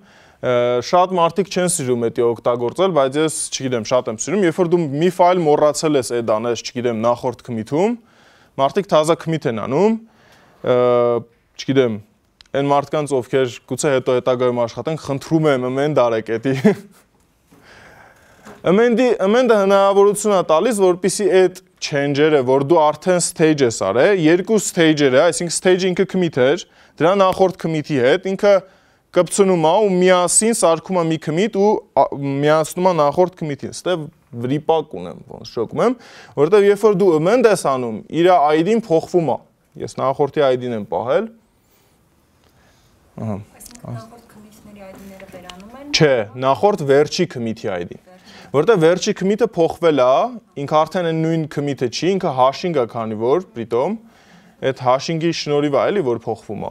Շատ մարդիկ չեն սիրում դա օգտագործել, բայց ես, չգիտեմ, շատ եմ սիրում, երբ որ դու մի ֆայլ մոռացել ես add անես, չգիտեմ, նախորդ commit-ում, մարդիկ թազա commit են անում, չգիտեմ, այն մարդկանց, ովքեր գուցե հետո հետագայում աշխատեն, խնդրում եմ amend արեք էդի։ Amend-ը հնարավորություն է տալիս, որպեսզի այդ change-երը, որ դու արդեն stage ես արել, երկու stage-երը, այսինքն stage-ը ինքը commit էր, դրա նախորդ commit-ի հետ, ինքը կպցնում է ու միասին սարքում է մի commit ու միացնում է նախորդ commit-ին։ Ստե վրիպակ ունեմ, ոնց շոկում եմ, որովհետև երբ որ դու amend ես անում, իր ID-ն փոխվում է։ Ես նախորդի ID-ն եմ պահել։ Ահա։ Նախորդ commit-ների ID-ները վերանում են։ Չէ, նախորդ վերջի commit-ի ID-ն։ Որտեղ վերջի commit-ը փոխվել է, ինքը արդեն այն նույն commit-ը չի, ինքը hashing է, քանի որ պրիտոմ այդ hashing-ի շնորհիվ է, էլի, որ փոխվում է։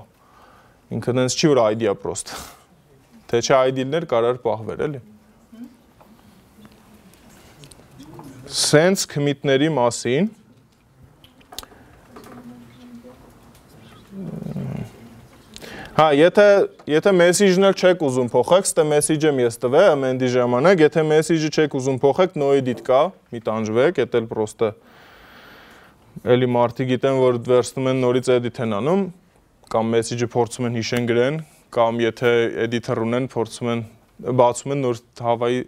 Ինքը դենց չի որ ID-ա պրոստ։ Թե չէ ID-ներ կարար պահվեր, էլի։ Sense commit-ների մասին Հա, եթե message-ն էլ չեք ուզում փոխեք, ստե message եմ ես տվել amend-ի ժամանակ, եթե message-ը չեք ուզում փոխեք, no edit կա, մի տանջվեք, դա էլ պրոստը էլի մարդիկ գիտեն, որ վերցնում են նորից edit են անում, կամ message-ը փորձում են հիշեն գրեն, կամ եթե editor ունեն, փորձում են բացում են նոր հավայի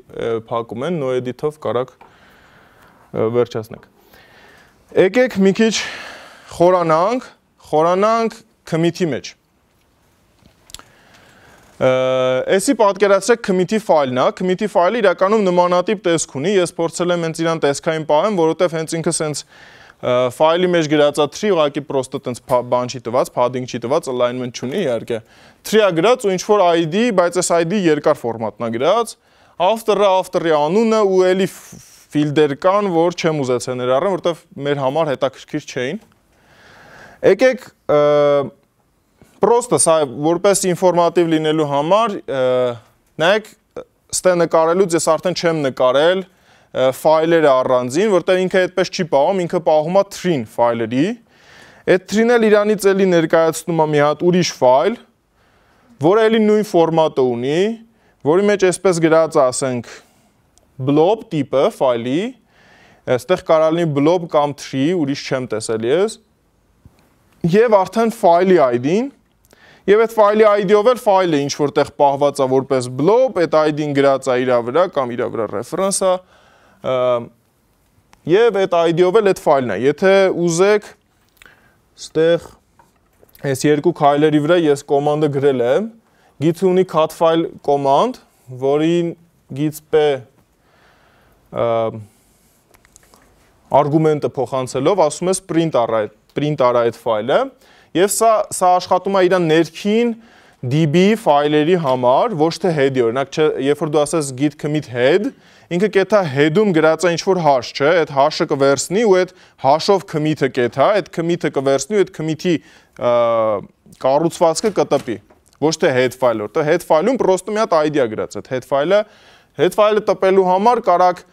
փակում են, no edit-ով կարակ վերջացնենք։ Եկեք մի քիչ խորանանք commit-ի մեջ։ Էսի պատկերացրեք commit-ի ֆայլն է, commit-ի ֆայլը իրականում նմանատիպ տեսք ունի, ես փորձել եմ հենց իրան տեսքային պահեմ, որովհետև հենց ինքը սենց ֆայլի մեջ գրած է tree, ուղղակի պրոստը տենց բան չի տված, padding չի տված, alignment չունի իհարկե։ Tree-ը գրած ու ինչ որ ID, բայց այս ID երկար ֆորմատն է գրած, after-ի անունը ու էլի ֆիլդեր կան, որ չեմ ուզեցել ներառեմ, որովհետև մեր համար հետաքրքիր չէին։ Եկեք Պրոստը սա որպես ինֆորմատիվ լինելու համար նայեք ստե նկարելուց ես արդեն չեմ նկարել ֆայլերը առանձին, որտեղ ինքը այդպես չի պահում, ինքը պահում է tree-ն ֆայլերի։ Այդ tree-ն էլ իրանից էլի ներկայացնում է մի հատ ուրիշ ֆայլ, որը էլի նույն ֆորմատը ունի, որի մեջ այսպես գրած է, ասենք blob տիպը ֆայլի, այստեղ կարող լինի blob կամ tree, ուրիշ չեմ տեսել ես։ Եվ արդեն ֆայլի ID-ն Եվ այդ ֆայլի ID-ով էլ ֆայլը ինչ որտեղ պահված է որպես blob, այդ ID-ն գրած է իր վրա կամ իր վրա reference է, եւ այդ ID-ով էլ այդ ֆայլն է։ Եթե ուզեք, ստեղ այս երկու քայլերի վրա ես կոմանդը գրել եմ, git ունի cut file կոմանդ, որին git-p արգումենտը փոխանցելով ասում ես print արա այդ ֆայլը։ Եվ սա աշխատում է իր ներքին DB ֆայլերի համար, ոչ թե head-ի, օրինակ, երբ որ դու ասես git commit head, ինքը կեթա head-ում գրած է ինչ-որ hash, չէ, այդ hash-ը կվերցնի ու այդ hash-ով commit-ը կեթա, այդ commit-ը կվերցնի ու այդ commit-ի կառուցվածքը կտպի, ոչ թե head file-ը, որտեղ head file-ում պրոստը մի հատ ID-ա գրած, այդ head file-ը տպելու համար կարակ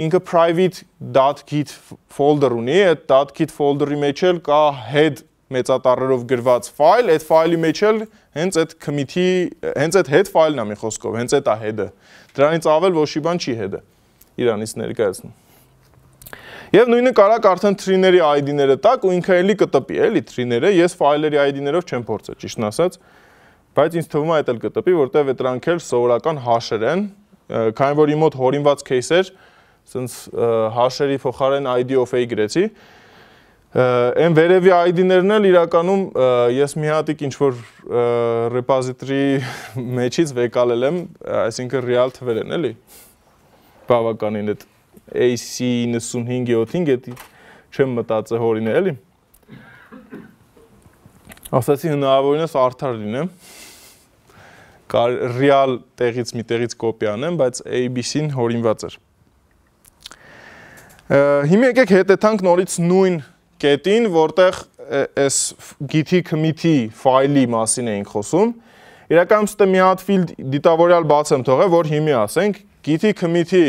ինքը private.git folder ունի, այդ .git folder-ի մեջ էլ կա head մեծատառերով գրված ֆայլ, այդ ֆայլի մեջ էլ հենց այդ commit-ի, հենց այդ head ֆայլն է մի խոսքով, հենց այդ է head-ը։ Դրանից ավել ոչ մի բան չի head-ը իրանից ներկայացնում։ Եվ նույնը կարակ արդեն tree-ների ID-ները տակ ու ինքը էլի կտպի, էլի tree-ները, ես ֆայլերի ID-ներով չեմ փորձել, ճիշտն ասած, բայց ինձ թվում է այդ էլ կտպի, որտեղ դրանք էլ սովորական hash-եր են, քանի որ իմ մոտ հորինված case-էր, ասենց hash-երի փոխարեն ID of A գրեցի։ Այն վերևի ID-ներն էլ իրականում ես մի հատիկ ինչ-որ repository մեջից վեկալել եմ, այսինքն real թվեր են, էլի, բավականին այդ AC95-7-ին, էդի չեմ մտածել հորինել, էլի։ Ասացի հնարավորինս արդար լինեմ, real տեղից մի տեղից կոպի անեմ, բայց ABC-ն հորինված էր։ Հիմա եկեք հետեթանք նորից նույն կետին, որտեղ այս git-ի commit-ի ֆայլի մասին էինք խոսում։ Իրականում ստե մի հատ field դիտավորյալ բաց եմ թողել, որ հիմի ասենք git-ի commit-ի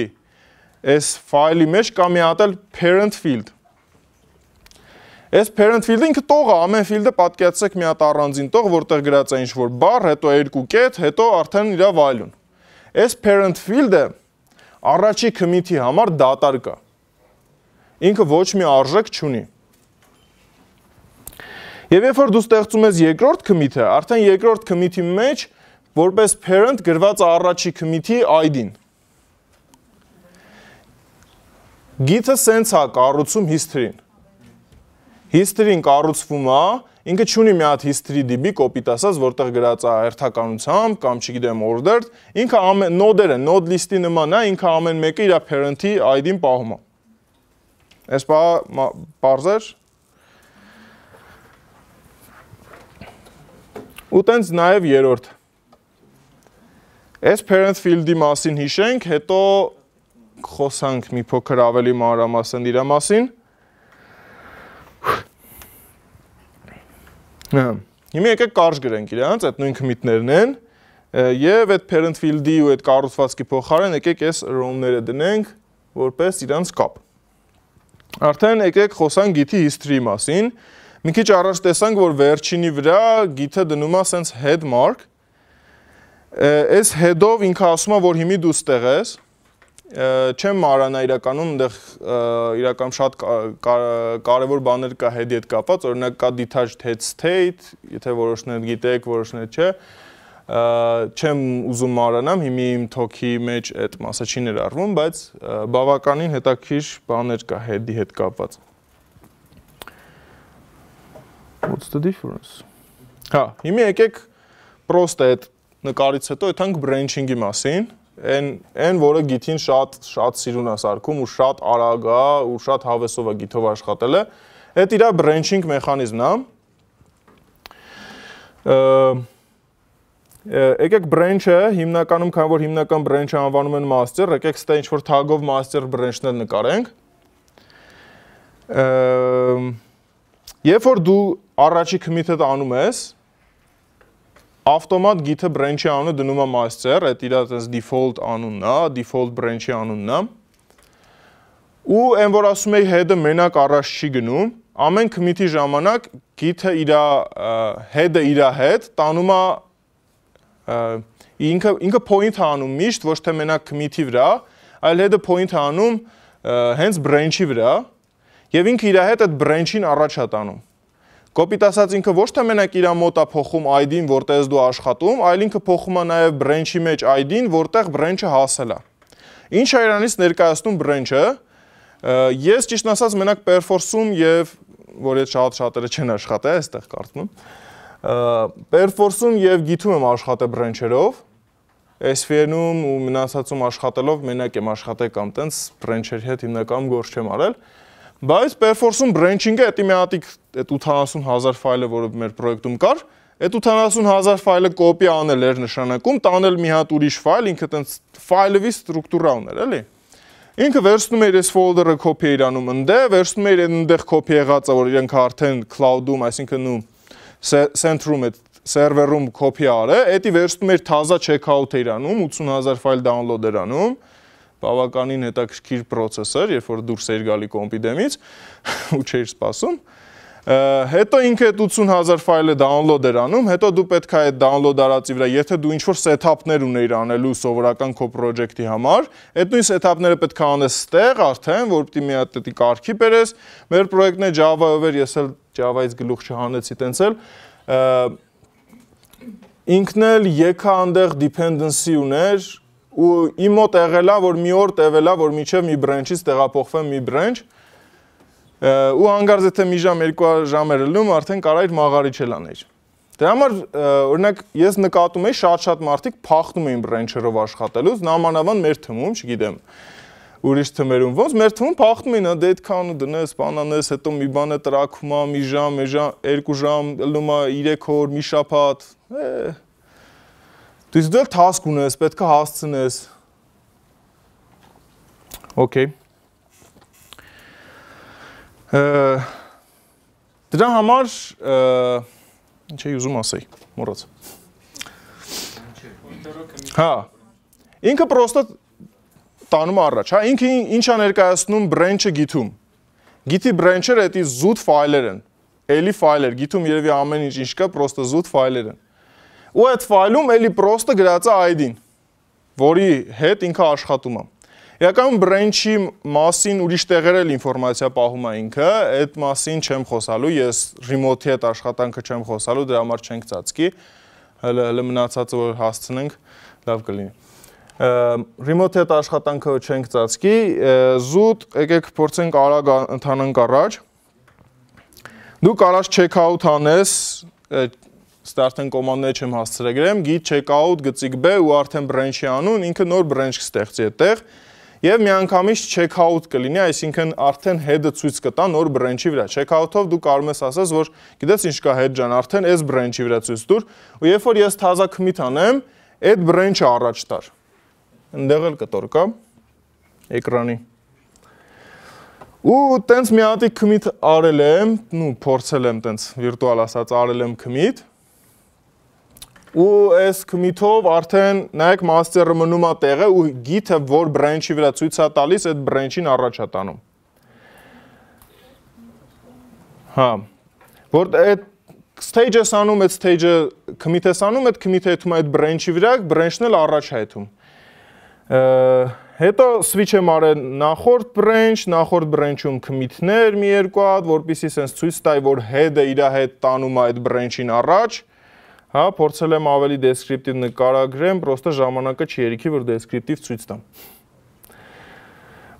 այս ֆայլի մեջ կա մի հատ էլ parent field։ Այս parent field-ը ինքը տող է, ամեն field-ը պատկերացրեք մի հատ առանձին տող, որտեղ գրած է ինչ-որ բառ, հետո երկու կետ, հետո արդեն իր վայլուն։ Այս parent field-ը առաջի commit-ի համար դատար կա։ Ինքը ոչ մի արժեք չունի։ Եվ երբ որ դու ստեղծում ես երկրորդ commit-ը, արդեն երկրորդ commit-ի մեջ որպես parent գրված է առաջի commit-ի ID-ն։ Git-ը սենց է կառուցում history-ն։ History-ն կառուցվում է, ինքը չունի մի հատ history DB կոպիտ ասած, որտեղ գրած է հերթականությամբ կամ չգիտեմ ordered, ինքը ամեն node-երը, node list-ի նման է, ինքը ամեն մեկը իր parent-ի ID-ն պահում է։ Այս բարձր։ Ու տենց նաև երրորդ։ Այս parent field-ի մասին հիշենք, հետո խոսանք մի փոքր ավելի մանրամասն իր մասին։ Հիմա եկեք կարճ գրենք իրանց, այդ նույն commit-ներն են, եւ այդ parent field-ի ու այդ կառուցվածքի փոխարեն եկեք այս row-ները դնենք, որպես իրանց կապ։ Արդեն եկեք խոսանք git-ի history-ի մասին։ Մի քիչ առաջ տեսանք, որ վերջինի վրա git-ը դնում է sense head mark։ Այս head-ով ինքը ասում է, որ հիմի դու ստեղ ես։ Չեմ մարանա իրականում, այնտեղ իրականում շատ կարևոր բաներ կա head-ի հետ կապված, օրինակ կա detached head state, եթե որոշները գիտեք, որոշները չէ, չեմ ուզում մարանամ, հիմի իմ talk-ի մեջ այդ մասը չի ներառվում, բայց բավականին հետաքրքիր բաներ կա head-ի հետ կապված։ What's the difference? Հա, հիմա եկեք պրոստը այդ նկարից հետո եթանք branching-ի մասին։ Այն որը git-ին շատ սիրուն է սարքում ու շատ արագ է ու շատ հավեսով է git-ով աշխատելը, այդ իր branching մեխանիզմն է։ Եկեք branch-ը հիմնականում, քանի որ հիմնական branch-ը անվանում են master, եկեք ստե ինչ-որ tag-ով master branch-ներ նկարենք։ Երբ որ դու առաջի commit-ը անում ես, ավտոմատ git-ը branch-ի անունը դնում է master, այդ իր default անունն է, default branch-ի անունն է։ Ու այն որ ասում էի head-ը մենակ առաջ չի գնում, ամեն commit-ի ժամանակ git-ը իր head-ը իր հետ տանում է ինքը point է անում միշտ ոչ թե մենակ commit-ի վրա, այլ head-ը point է անում հենց branch-ի վրա, եւ ինքը իր հետ այդ branch-ին առաջ է տանում։ Կոպիտ ասած ինքը ոչ թե մենակ իր մոտ է փոխում ID-ն, որտեղ դու աշխատում, այլ ինքը փոխում է նաև branch-ի մեջ ID-ն, որտեղ branch-ը հասել է։ Ինչ է իրանից ներկայացնում branch-ը։ Ես ճիշտ ասած մենակ perforce-ում եւ որ այդ շատերը չեն աշխատել, այստեղ կարծում եմ։ Perforce-ում եւ git-ում եմ աշխատել branch-երով։ SVN-ում ու մնացածում աշխատելով մենակ եմ աշխատել կամ տենց branch-երի հետ հիմնականում գործ չեմ արել։ Բայց perforce-ում branching-ը էտի մի հատիկ այդ 80000 ֆայլը, որը մեր պրոյեկտում կար, այդ 80000 ֆայլը կոպի անել էր նշանակում, տանել մի հատ ուրիշ ֆայլ, ինքը տենց ֆայլովի ստրուկտուրա ուներ, էլի։ Ինքը վերցնում էր այս folder-ը copy իրանում ընդե, վերցնում էր այնտեղ copy եղածը, որ իրենք արդեն cloud-ում, այսինքն ու center-ում այդ server-ում copy արը, էտի վերցնում էր թազա checkout-ը իրանում, 80000 ֆայլ download էր անում, բավականին հետաքրքիր processor, երբ որ դուրս էր գալի կոմպի դեմից ու չէր սպասում։ Հետո ինքը այդ 80000 ֆայլը download էր անում, հետո դու պետք է այդ download արածի վրա, եթե դու ինչ-որ setup-ներ ունեիր անելու սովորական քո project-ի համար, այդ նույն setup-ները պետք է անես ստեղ արդեն, որ պիտի մի հատ դի կարգի բերես։ Մեր պրոյեկտն է Java-ով էր, ես էլ Java-ից գլուխ չհանեցի տենց էլ։ Ինքն էլ եկա այնտեղ dependency ուներ ու իմ մոտ եղել է, որ մի օր տևել է, որ միջև մի branch-ից տեղափոխվեմ մի branch, ու հանգարց եթե մի ժամ, 2 ժամ էր ելնում, արդեն կարայր մաղարիչ էլ աներ։ Դրա համար, օրինակ, ես նկատում էի շատ մարդիկ փախնում էին branch-երով աշխատելուց, նամանավան մեր թվում, չգիտեմ, ուրիշ թմերում ոնց, մեր թվում փախնում էին, դե այդքան ու դնես, բան անես, հետո մի բանը տրակում է, մի ժամ, 2 ժամ, ելնում է 3 օր, մի շաբաթ, դու դել task ունես, պետք է հասցնես։ Okay։ Դրա համար ինչ էի ուզում ասեի, մոռաց։ Հա։ Ինքը պրոստը տանում առաջ, հա, ինքը ինչա ներկայացնում branch-ը գիթում։ Գիթի branch-երը էդի զուտ ֆայլեր են։ Էլի ֆայլեր, գիթում երևի ամեն ինչ կա, պրոստը զուտ ֆայլեր են։ Ու այդ ֆայլում էլի պրոստը գրած է ID-ն, որի հետ ինքը աշխատում է։ Իրականում branch-ի մասին ուրիշ տեղեր էլ ինֆորմացիա պահում է ինքը, այդ մասին չեմ խոսալու, ես remote-ի հետ աշխատանքը չեմ խոսալու, դրա համար չենք ծածկի, հələ մնացածը որ հասցնենք, լավ կլինի։ Remote-ի հետ աշխատանքը չենք ծածկի, զուտ եկեք փորձենք արագ ընթանանք առաջ։ Դու կարաս check-out անես, ստարտեն կոմանդները չեմ հասցրել գրեմ, git checkout գծիկ B ու արդեն branch-ի անուն, ինքը նոր branch կստեղծի այդտեղ եւ միանգամից checkout կլինի, այսինքն արդեն head-ը ցույց կտա նոր branch-ի վրա։ Checkout-ով դու կարող ես ասես, որ գիտես ինչ կա head ջան, արդեն այս branch-ի վրա ցույց տուր, ու երբ որ ես թազա commit անեմ, այդ branch-ը առաջ տար։ Այնտեղ էլ կտոր կա էկրանի։ Ու տենց մի հատի commit արել եմ, փորձել եմ տենց վիրտուալ ասած արել եմ commit։ Ու այս commit-ով արդեն նայեք master-ը մնում է տեղը ու git-ը որ branch-ի վրա ցույց է տալիս, այդ branch-ին առաջ է տանում։ Հա։ Որ այդ stage-ը անում, այդ stage-ը commit-ը անում, այդ commit-ը հետում այդ branch-ի վրա, branch-ն էլ առաջ է հետում։ Հետո switch եմ արել նախորդ branch-ում commit-ներ մի երկու հատ, որպեսզի sense ցույց տայի, որ head-ը իր հետ տանում է այդ branch-ին առաջ։ Հա, փորձել եմ ավելի descriptive նկարագրեմ, պրոստը ժամանակը չի երիքի, որ descriptive ցույց տամ։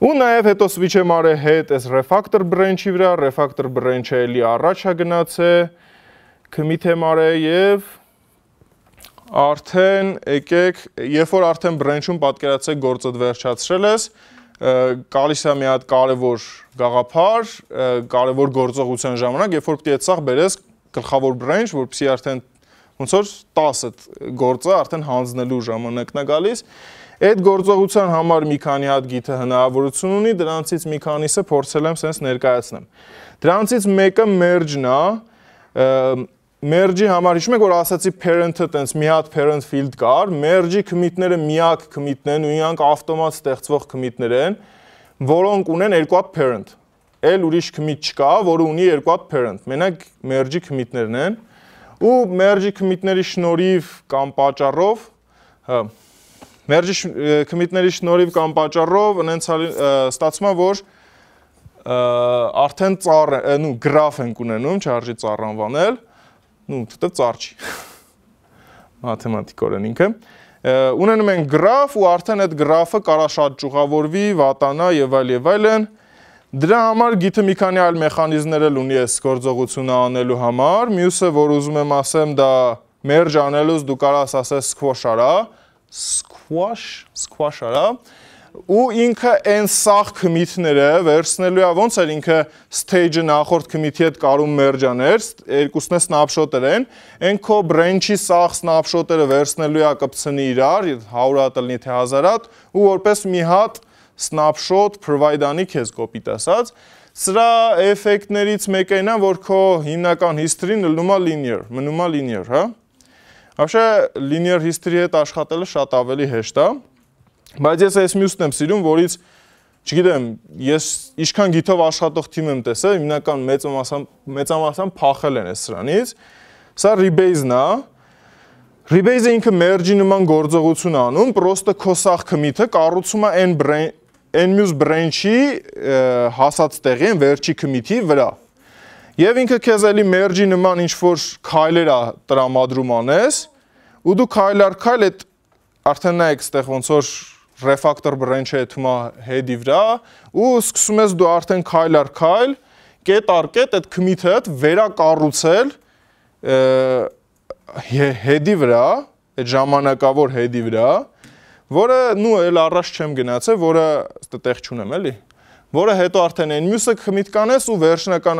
Ու նաև հետո switch եմ արել head այս refactor branch-ի վրա, refactor branch-ը էլի առաջ է գնացել, commit եմ արել եւ արդեն եկեք, երբ որ արդեն branch-ում պատկերացեք գործդ վերջացրել ես, գալիս է մի հատ կարևոր գաղափար, կարևոր գործողության ժամանակ, երբ որ պետք է այդ սաղ բերես գլխավոր branch, որպեսզի արդեն ոնց որ 10 գործը արդեն հանձնելու ժամանակն է գալիս։ Այդ գործողության համար մի քանի հատ գիթը հնարավորություն ունի, դրանցից մի քանիսը փորձել եմ sense ներկայացնեմ։ Դրանցից մեկը merge-ն է, merge-ի համար հիշում եք որ ասացի parent-ը տենց մի հատ parent field կար, merge-ի commit-ները միակ commit-ն են ու իրանք ավտոմատ ստեղծվող commit-ներ են, որոնք ունեն երկու հատ parent։ Էլ ուրիշ commit չկա, որը ունի երկու հատ parent։ Մենակ merge-ի commit-ներն են։ Ու merge-ի commit-ների շնորհիվ կամ պատճառով, հա, merge-ի commit-ների շնորհիվ կամ պատճառով այնց ստացվում է որ արդեն ծառ, graph ենք ունենում, չարժի ծառ անվանել, դա ծառ չի։ Մաթեմատիկորեն ինքը։ Ունենում ենք graph ու արդեն այդ graph-ը կարա շատ ճյուղավորվի, վատանա եւ այլն։ Դրա համար գիթը մի քանի այլ մեխանիզմներ էլ ունի այս գործողությունը անելու համար։ Մյուսը, որ ուզում եմ ասեմ, դա merge անելուց դու կարաս ասես squash արա, squash արա, ու ինքը այն սաղ commit-ները վերցնելու է, ոնց էր ինքը stage-ը նախորդ commit-ի հետ կարում merge աներ, երկուսն է snapshot-եր են, այն քո branch-ի սաղ snapshot-երը վերցնելու է կպցնի իրար, 100 հատ լինի թե 1000 հատ, ու որպես մի հատ snapshot provide-անի քեզ կոպիտ ասած, սրա էֆեկտներից մեկը այն է, որ քո հիմնական history-ն մնում է linear, հա։ Вообще linear history-ի հետ աշխատելը շատ ավելի հեշտ է, բայց ես այս մյուսն եմ սիրում, որից, չգիտեմ, ես ինչքան գիթով աշխատող թիմ եմ տեսել, հիմնական մեծամասամբ փախել են այս սրանից, սա rebase-ն է, rebase-ը ինքը merge-ի նման գործողություն անում, պրոստը քո սաղ commit-ը կառուցում է այն մյուս branch-ի հասած տեղի, վերջի commit-ի վրա։ Եվ ինքը քեզ էլի merge-ի նման ինչ-որ քայլեր է տրամադրում անես, ու դու քայլ առ քայլ այդ արդեն նայեք ստեղ ոնց որ refactor branch-ը հետում է head-ի վրա, ու սկսում ես դու արդեն քայլ առ քայլ, կետ առ կետ այդ commit-ը վերակառուցել head-ի վրա, այդ ժամանակավոր head-ի վրա, որը էլ առաջ չեմ գնացել, որը տեղ չունեմ էլի, որը հետո արդեն այն մյուսը commit կանես ու վերջնական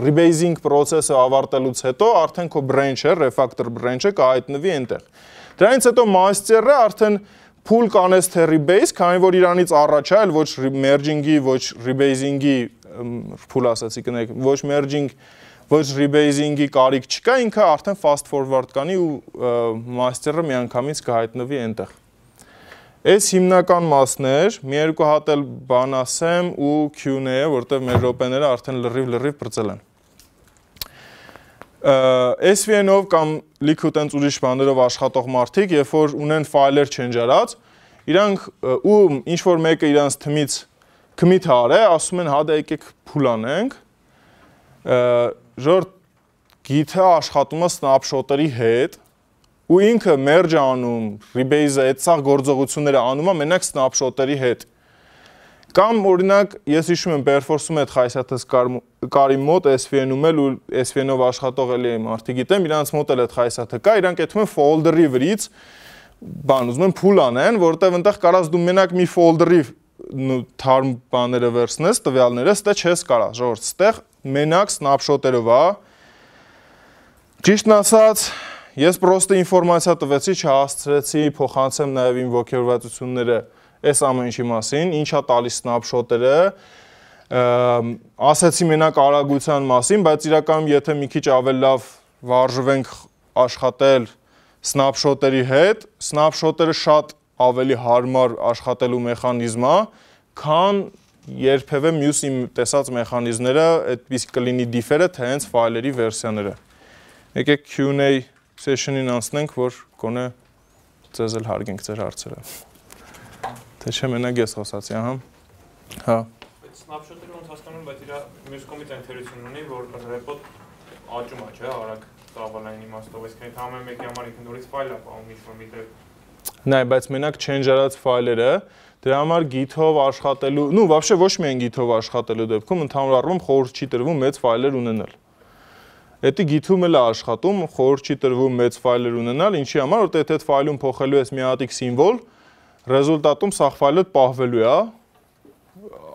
rebasing process-ը ավարտելուց հետո արդեն քո branch-ը, refactor branch-ը կհայտնվի այնտեղ։ Դրանից հետո master-ը արդեն pull կանես թե rebase, քանի որ իրանից առաջ է, ոչ merging-ի, ոչ rebasing-ի փուլ ասացի կնեք, ոչ merging, ոչ rebasing-ի կարիք չկա, ինքը արդեն fast forward կանի ու master-ը միանգամից կհայտնվի այնտեղ։ Այս հիմնական մասն էր, մի երկու հատ էլ բան ասեմ ու Q&A, որտեղ մեր րոպեները արդեն լրիվ բրծել են։ SVN-ով կամ լիքը տենց ուրիշ բաներով աշխատող մարդիկ, երբ որ ունեն ֆայլեր չեն ջարած, իրանք ու ինչ որ մեկը իրանց թմից commit արե, ասում են հա դա եկեք փուլ անենք, ժոր Git-ը աշխատում է snapshot-երի հետ ու ինքը merge անում, rebase-ը, այդ սաղ գործողությունները անում է մենակ snapshot-երի հետ։ Կամ օրինակ, ես հիշում եմ Perforce-ում այդ խայսաթս կարի մոտ SVN-ում էլ ու SVN-ով աշխատող էլի մարդիկ գիտեմ, իրանց մոտ էլ այդ խայսաթը կա, իրանք այդում են folder-ի վրից բան ուզում են փուլ անեն, որտեղ այնտեղ կարաս դու մենակ մի folder-ի թարմ բաները վերցնես, տվյալները, ստե չես կարա, ժողովուրդ, ստեղ մենակ snapshot-երով է։ Ճիշտն ասած, ես պրոստը ինֆորմացիա տվեցի, չհասցրեցի փոխանցեմ նաև իմ ոգևորվածությունները այս ամեն ինչի մասին, ինչա տալիս snapshot-երը, ասեցի մենակ արագության մասին, բայց իրականում եթե մի քիչ ավելի լավ վարժվենք աշխատել snapshot-երի հետ, snapshot-երը շատ ավելի հարմար աշխատելու մեխանիզմ է, քան երբևէ մյուս իմ տեսած մեխանիզմները, այդպես կլինի differ-ը, թե հենց ֆայլերի վերսիաները։ Եկեք Q&A session-ին անցնենք, որ գոնե ձեզ էլ հարգենք ձեր հարցերը։ Թե չէ մենակ ես խոսացի, ահա։ Հա։ Այդ snapshot-երը ոնց հասկանում, բայց իր մյուս կողմից ընթերություն ունի, որ report աճում է, չէ, արագ ծավալային իմաստով, այսինքն ամեն մեկի համար ինքն նորից ֆայլ է պահում ինչ-որ միտեղ։ Նայ, բայց մենակ չեն ջարած ֆայլերը, դրա համար Git-ով աշխատելու, նու вообще ոչ միայն Git-ով աշխատելու դեպքում ընդհանուր առմամբ խորհուրդ չի տրվում մեծ ֆայլեր ունենալ։ Էդի Git-ում էլ է աշխատում, խորհուրդ չի տրվում մեծ ֆայլեր ունենալ, ինչի համար, որտեղ այդ ֆայլում փոխելու ես մի հատիկ սիմվոլ, ռեզուլտատում սաղ ֆայլը պահվելու է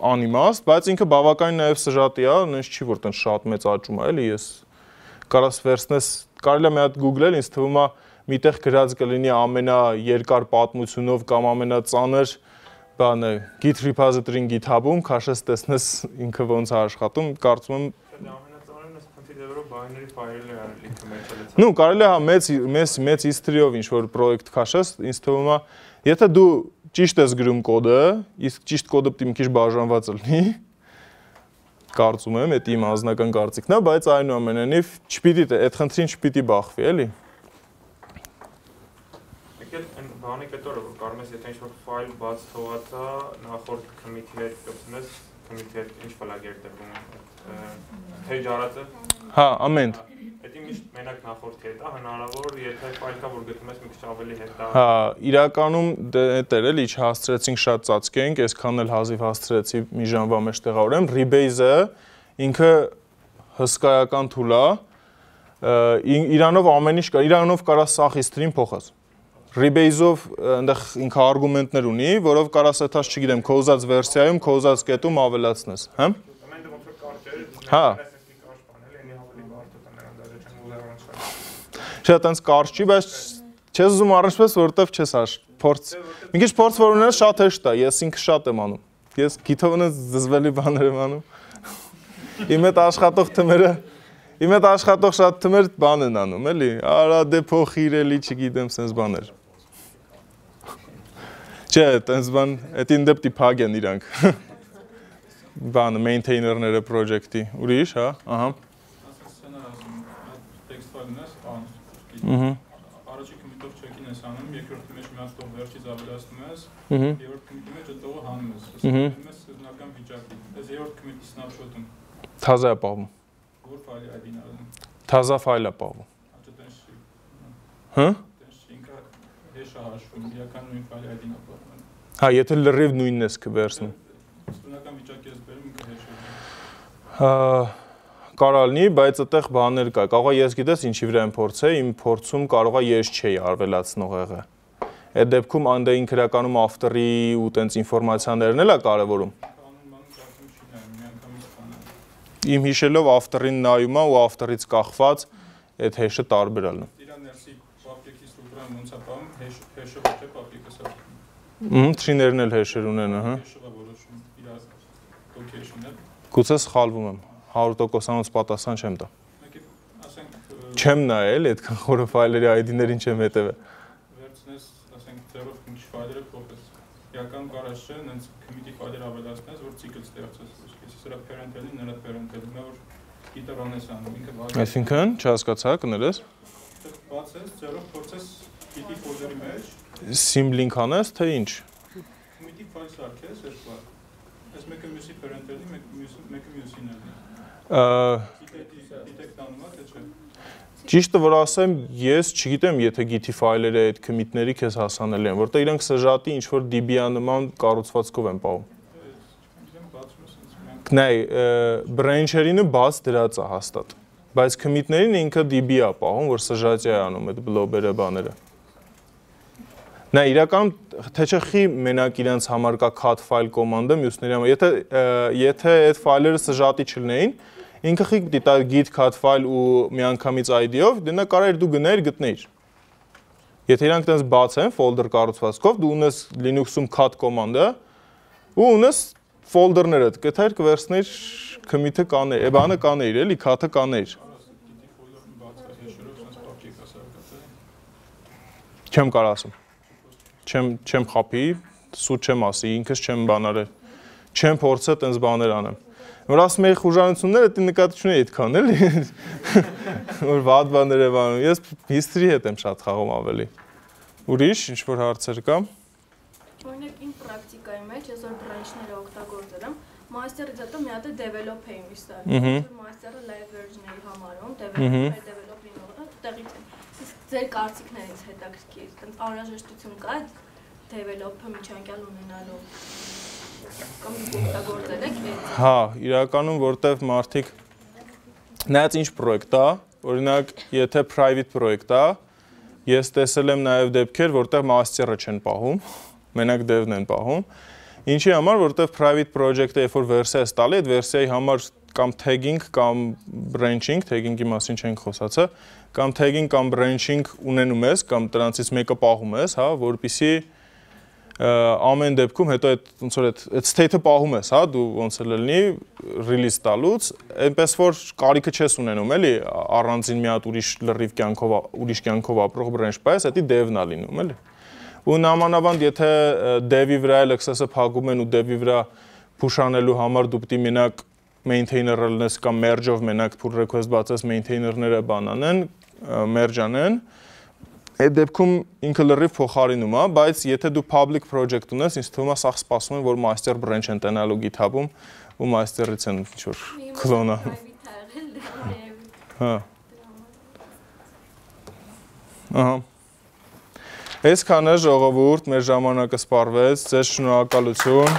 անիմաստ, բայց ինքը բավականին նաև սժատի է, նենց չի որ տենց շատ մեծ աճում է, էլի ես կարաս վերցնես, կարելի է մի հատ Google-ել, ինձ թվում է միտեղ գրած կլինի ամենաերկար պատմությունով կամ ամենածանր բանը Git repository-ին GitHub-ում, քաշես տեսնես ինքը ոնց է աշխատում, կարծում եմ ամենածանրն էս քննիներով binary ֆայլեր է արել ինքը մեջալից։ Նու կարելի է հա մեծ history-ով ինչ որ պրոյեկտ քաշես, ինձ թվում է, եթե դու ճիշտ ես գրում կոդը, իսկ ճիշտ կոդը պետք է մի քիչ բաժանված լինի, կարծում եմ, դա իմ անձնական կարծիքն է, բայց այնուամենայնիվ չպիտի այդ խնդրին չպիտի բախվի, էլի։ Եկել բանի կետորը, որ կարող ես եթե ինչ-որ ֆայլ բաց թողած է, նախորդ commit-ի հետ կպցնես, commit-ի հետ ինչ ֆլագեր տրվում, page արածը։ Հա, ամենտ։ Դա միշտ մենակ նախորդի հետ է, հնարավոր, եթե ֆայլ կա, որ գտնում ես մի քիչ ավելի հետ է։ Հա, իրականում դեր էլի չհասցրեցինք շատ ծածկենք, այսքան էլ հազիվ հասցրեցի մի ժամվա մեջ տեղավորեմ, Rebase-ը ինքը հսկայական tool է, իրանով ամեն ինչ կա, իրանով կարա սաղ history-ին փոխած։ Rebase-ով այնտեղ ինքը արգումենտներ ունի, որով կարաս այդած չգիտեմ, քո ուզած վերսիայում, քո ուզած կետում ավելացնես, հա։ Հա։ Չէ, այտենց կարճ չի, բայց չես ուզում առնչպես, որովհետև չես փորձ։ Մի քիչ փորձ որ ունենաս շատ հեշտ է, ես ինքը շատ եմ անում։ Ես Git-ով զզվելի բաներ եմ անում։ Իմ հետ աշխատող շատ թմեր բան են անում, էլի։ Արա դե փոխիր էլի, չգիտեմ, սենց բաներ։ Չէ, այտենց բան, այդին դեպտի փակ են իրանք։ Բանը maintainer-ները project-ի։ Ուրիշ, հա, ահա։ Առաջի commit-ով check-in ես անում, երկրորդի մեջ մի հատ տող վերջից ավելացնում ես, երրորդ commit-ի մեջ այդ տողը հանում ես, ասում ես սկզբնական վիճակի։ Այս երրորդ commit-ի snapshot-ում Թազա է պահվում։ Որ ֆայլի ID-ն արում։ Թազա ֆայլ է պահվում։ Աճը տենց չի։ Հա։ Տենց չի, ինքը հեշ է հաշվում, իրական նույն ֆայլի ID-ն է պահվում։ Հա, եթե լրիվ նույնն ես կվերցնում։ Սկզբնական վիճակի ես բերում, ինքը հեշ է։ Հա, կարա լինի, բայց այդտեղ բաներ կա։ Կարող է ես գիտես ինչի վրա եմ փորձել, իմ փորձում կարող է ես չէի արվելացնող եղել։ Այդ դեպքում անդե ինքը իրականում after-ի ու տենց ինֆորմացիաներն էլ է կարևորում։ Իմ հիշելով after-ին նայում է ու after-ից կախված այդ hash-ը տարբեր է լինում։ Իրա ներսի public-ի ստրուկտուրան ոնց է պահում, hash-ը ոչ է public-ը։ Tree-ներն էլ hash-էր ունեն, ահա։ Hash-ը որոշում իր location-ը։ Գուցե սխալվում եմ, 100%-անոց պատասխան չեմ տա։ Չեմ նայել, այդքան խորը ֆայլերի ID-ներին չեմ հետևել։ Վերցնես, ասենք, ձեռով ինչ ֆայլերը փոխես։ Իրական կարած չէ, նենց committee ֆայլեր ավելացնես, որ ցիկլ ստեղծես։ Սրա parent-ին, նրա parent-ին, որ գիտարան ես անում, ինքը բացես։ Այսինքն, չհասկացա, կներես։ Բացես, ձեռով փորձես git ֆոլդերի մեջ։ Sim link անես, թե ինչ։ Committee ֆայլ սարքես, այսպես։ Այս մեկը մյուսի parent-ին, մեկը մյուսին է։ Detect անում է, թե չէ։ Ճիշտը որ ասեմ, ես չգիտեմ, եթե git ֆայլերը այդ commit-ների քեզ հասանելի են, որտեղ իրանք սժատի ինչ որ DB-անման կառուցվածքով են պահում։ Նայ, branch-երինը բաց դրած է հաստատ, բայց commit-ներին ինքը DB-ա պահում, որ սժատի է անում այդ blob-երը բաները։ Նայ, իրական թե չէ խի մենակ իրանց համար կա cut file կոմանդը, մյուսների համար, եթե այդ ֆայլերը սժատի չլինեին, ինքը խի դիտա git cut file ու միանգամից ID-ով, դենա կարայր դու գնայր գտնեիր։ Եթե իրանք տենց բաց են folder կառուցվածքով, դու ունես Linux-ում cut կոմանդը ու ունես folder-ները, գտայր կվերցնեիր commit-ը կանեիր, բանը կանեիր, էլի cut-ը կանեիր։ Չեմ կարող ասեմ։ Չեմ խափի, սուտ չեմ ասի, ինքս չեմ բանարել։ Չեմ փորձել տենց բաներ անեմ։ Որ ասում էի խուժանությունները դի նկատի չունեի այդքան էլի։ Որ վատ բաներ եմ անում։ Ես history հետ եմ շատ խաղում ավելի։ Ուրիշ ինչ որ հարցեր կա։ Օրինակ իմ պրակտիկայի մեջ ես որ branch-ները օգտագործել եմ, master-ից հետո մի հատ է develop էի միշտ արել։ Master-ը live version-ների համարում, develop-ը տեղից է։ Իսկ ձեր կարծիքներից հետաքրքիր, այտենց անհրաժեշտություն կա develop-ը միջանկյալ ունենալու։ Կամ օգտագործել եք այդ։ Հա, իրականում որտեվ մարդիկ նայած ինչ պրոյեկտ է, օրինակ, եթե private պրոյեկտ է, ես տեսել եմ նաև դեպքեր, որտեղ master-ը չեն պահում, մենակ dev-ն են պահում։ Ինչի համար, որտեղ private project-ը երբ որ վերսիա ես տալի, այդ վերսիայի համար կամ tagging կամ branching, tagging-ի մասին չենք խոսացել, կամ tagging կամ branching ունենում ես, կամ դրանցից մեկը պահում ես, հա, որպեսզի ամեն դեպքում հետո այդ ոնց որ այդ state-ը պահում ես, հա, դու ոնց էլ լինի release տալուց, այնպես որ կարիքը չես ունենում, էլի, առանձին մի հատ ուրիշ լրիվ կյանքով, ուրիշ կյանքով ապրող branch պայես, դա dev-ն է լինում, էլի։ Ու նամանավանդ եթե dev-ի վրա էլ access-ը փակում են ու dev-ի վրա push-անելու համար դու պետք է մենակ maintainer-ը լինես կամ merge-ով մենակ pull request բացես maintainer-ները բանանեն, merge անեն, այդ դեպքում ինքը լրիվ փոխարինում է, բայց եթե դու public project ունես, ինձ թվում է սա սպասում են, որ master branch են տնալու GitHub-ում ու master-ից են ինչ-որ clone-ը։ Հա։ Ահա։ Այսքանը ժողովուրդ, մեր ժամանակը սպառվեց, ձեզ շնորհակալություն։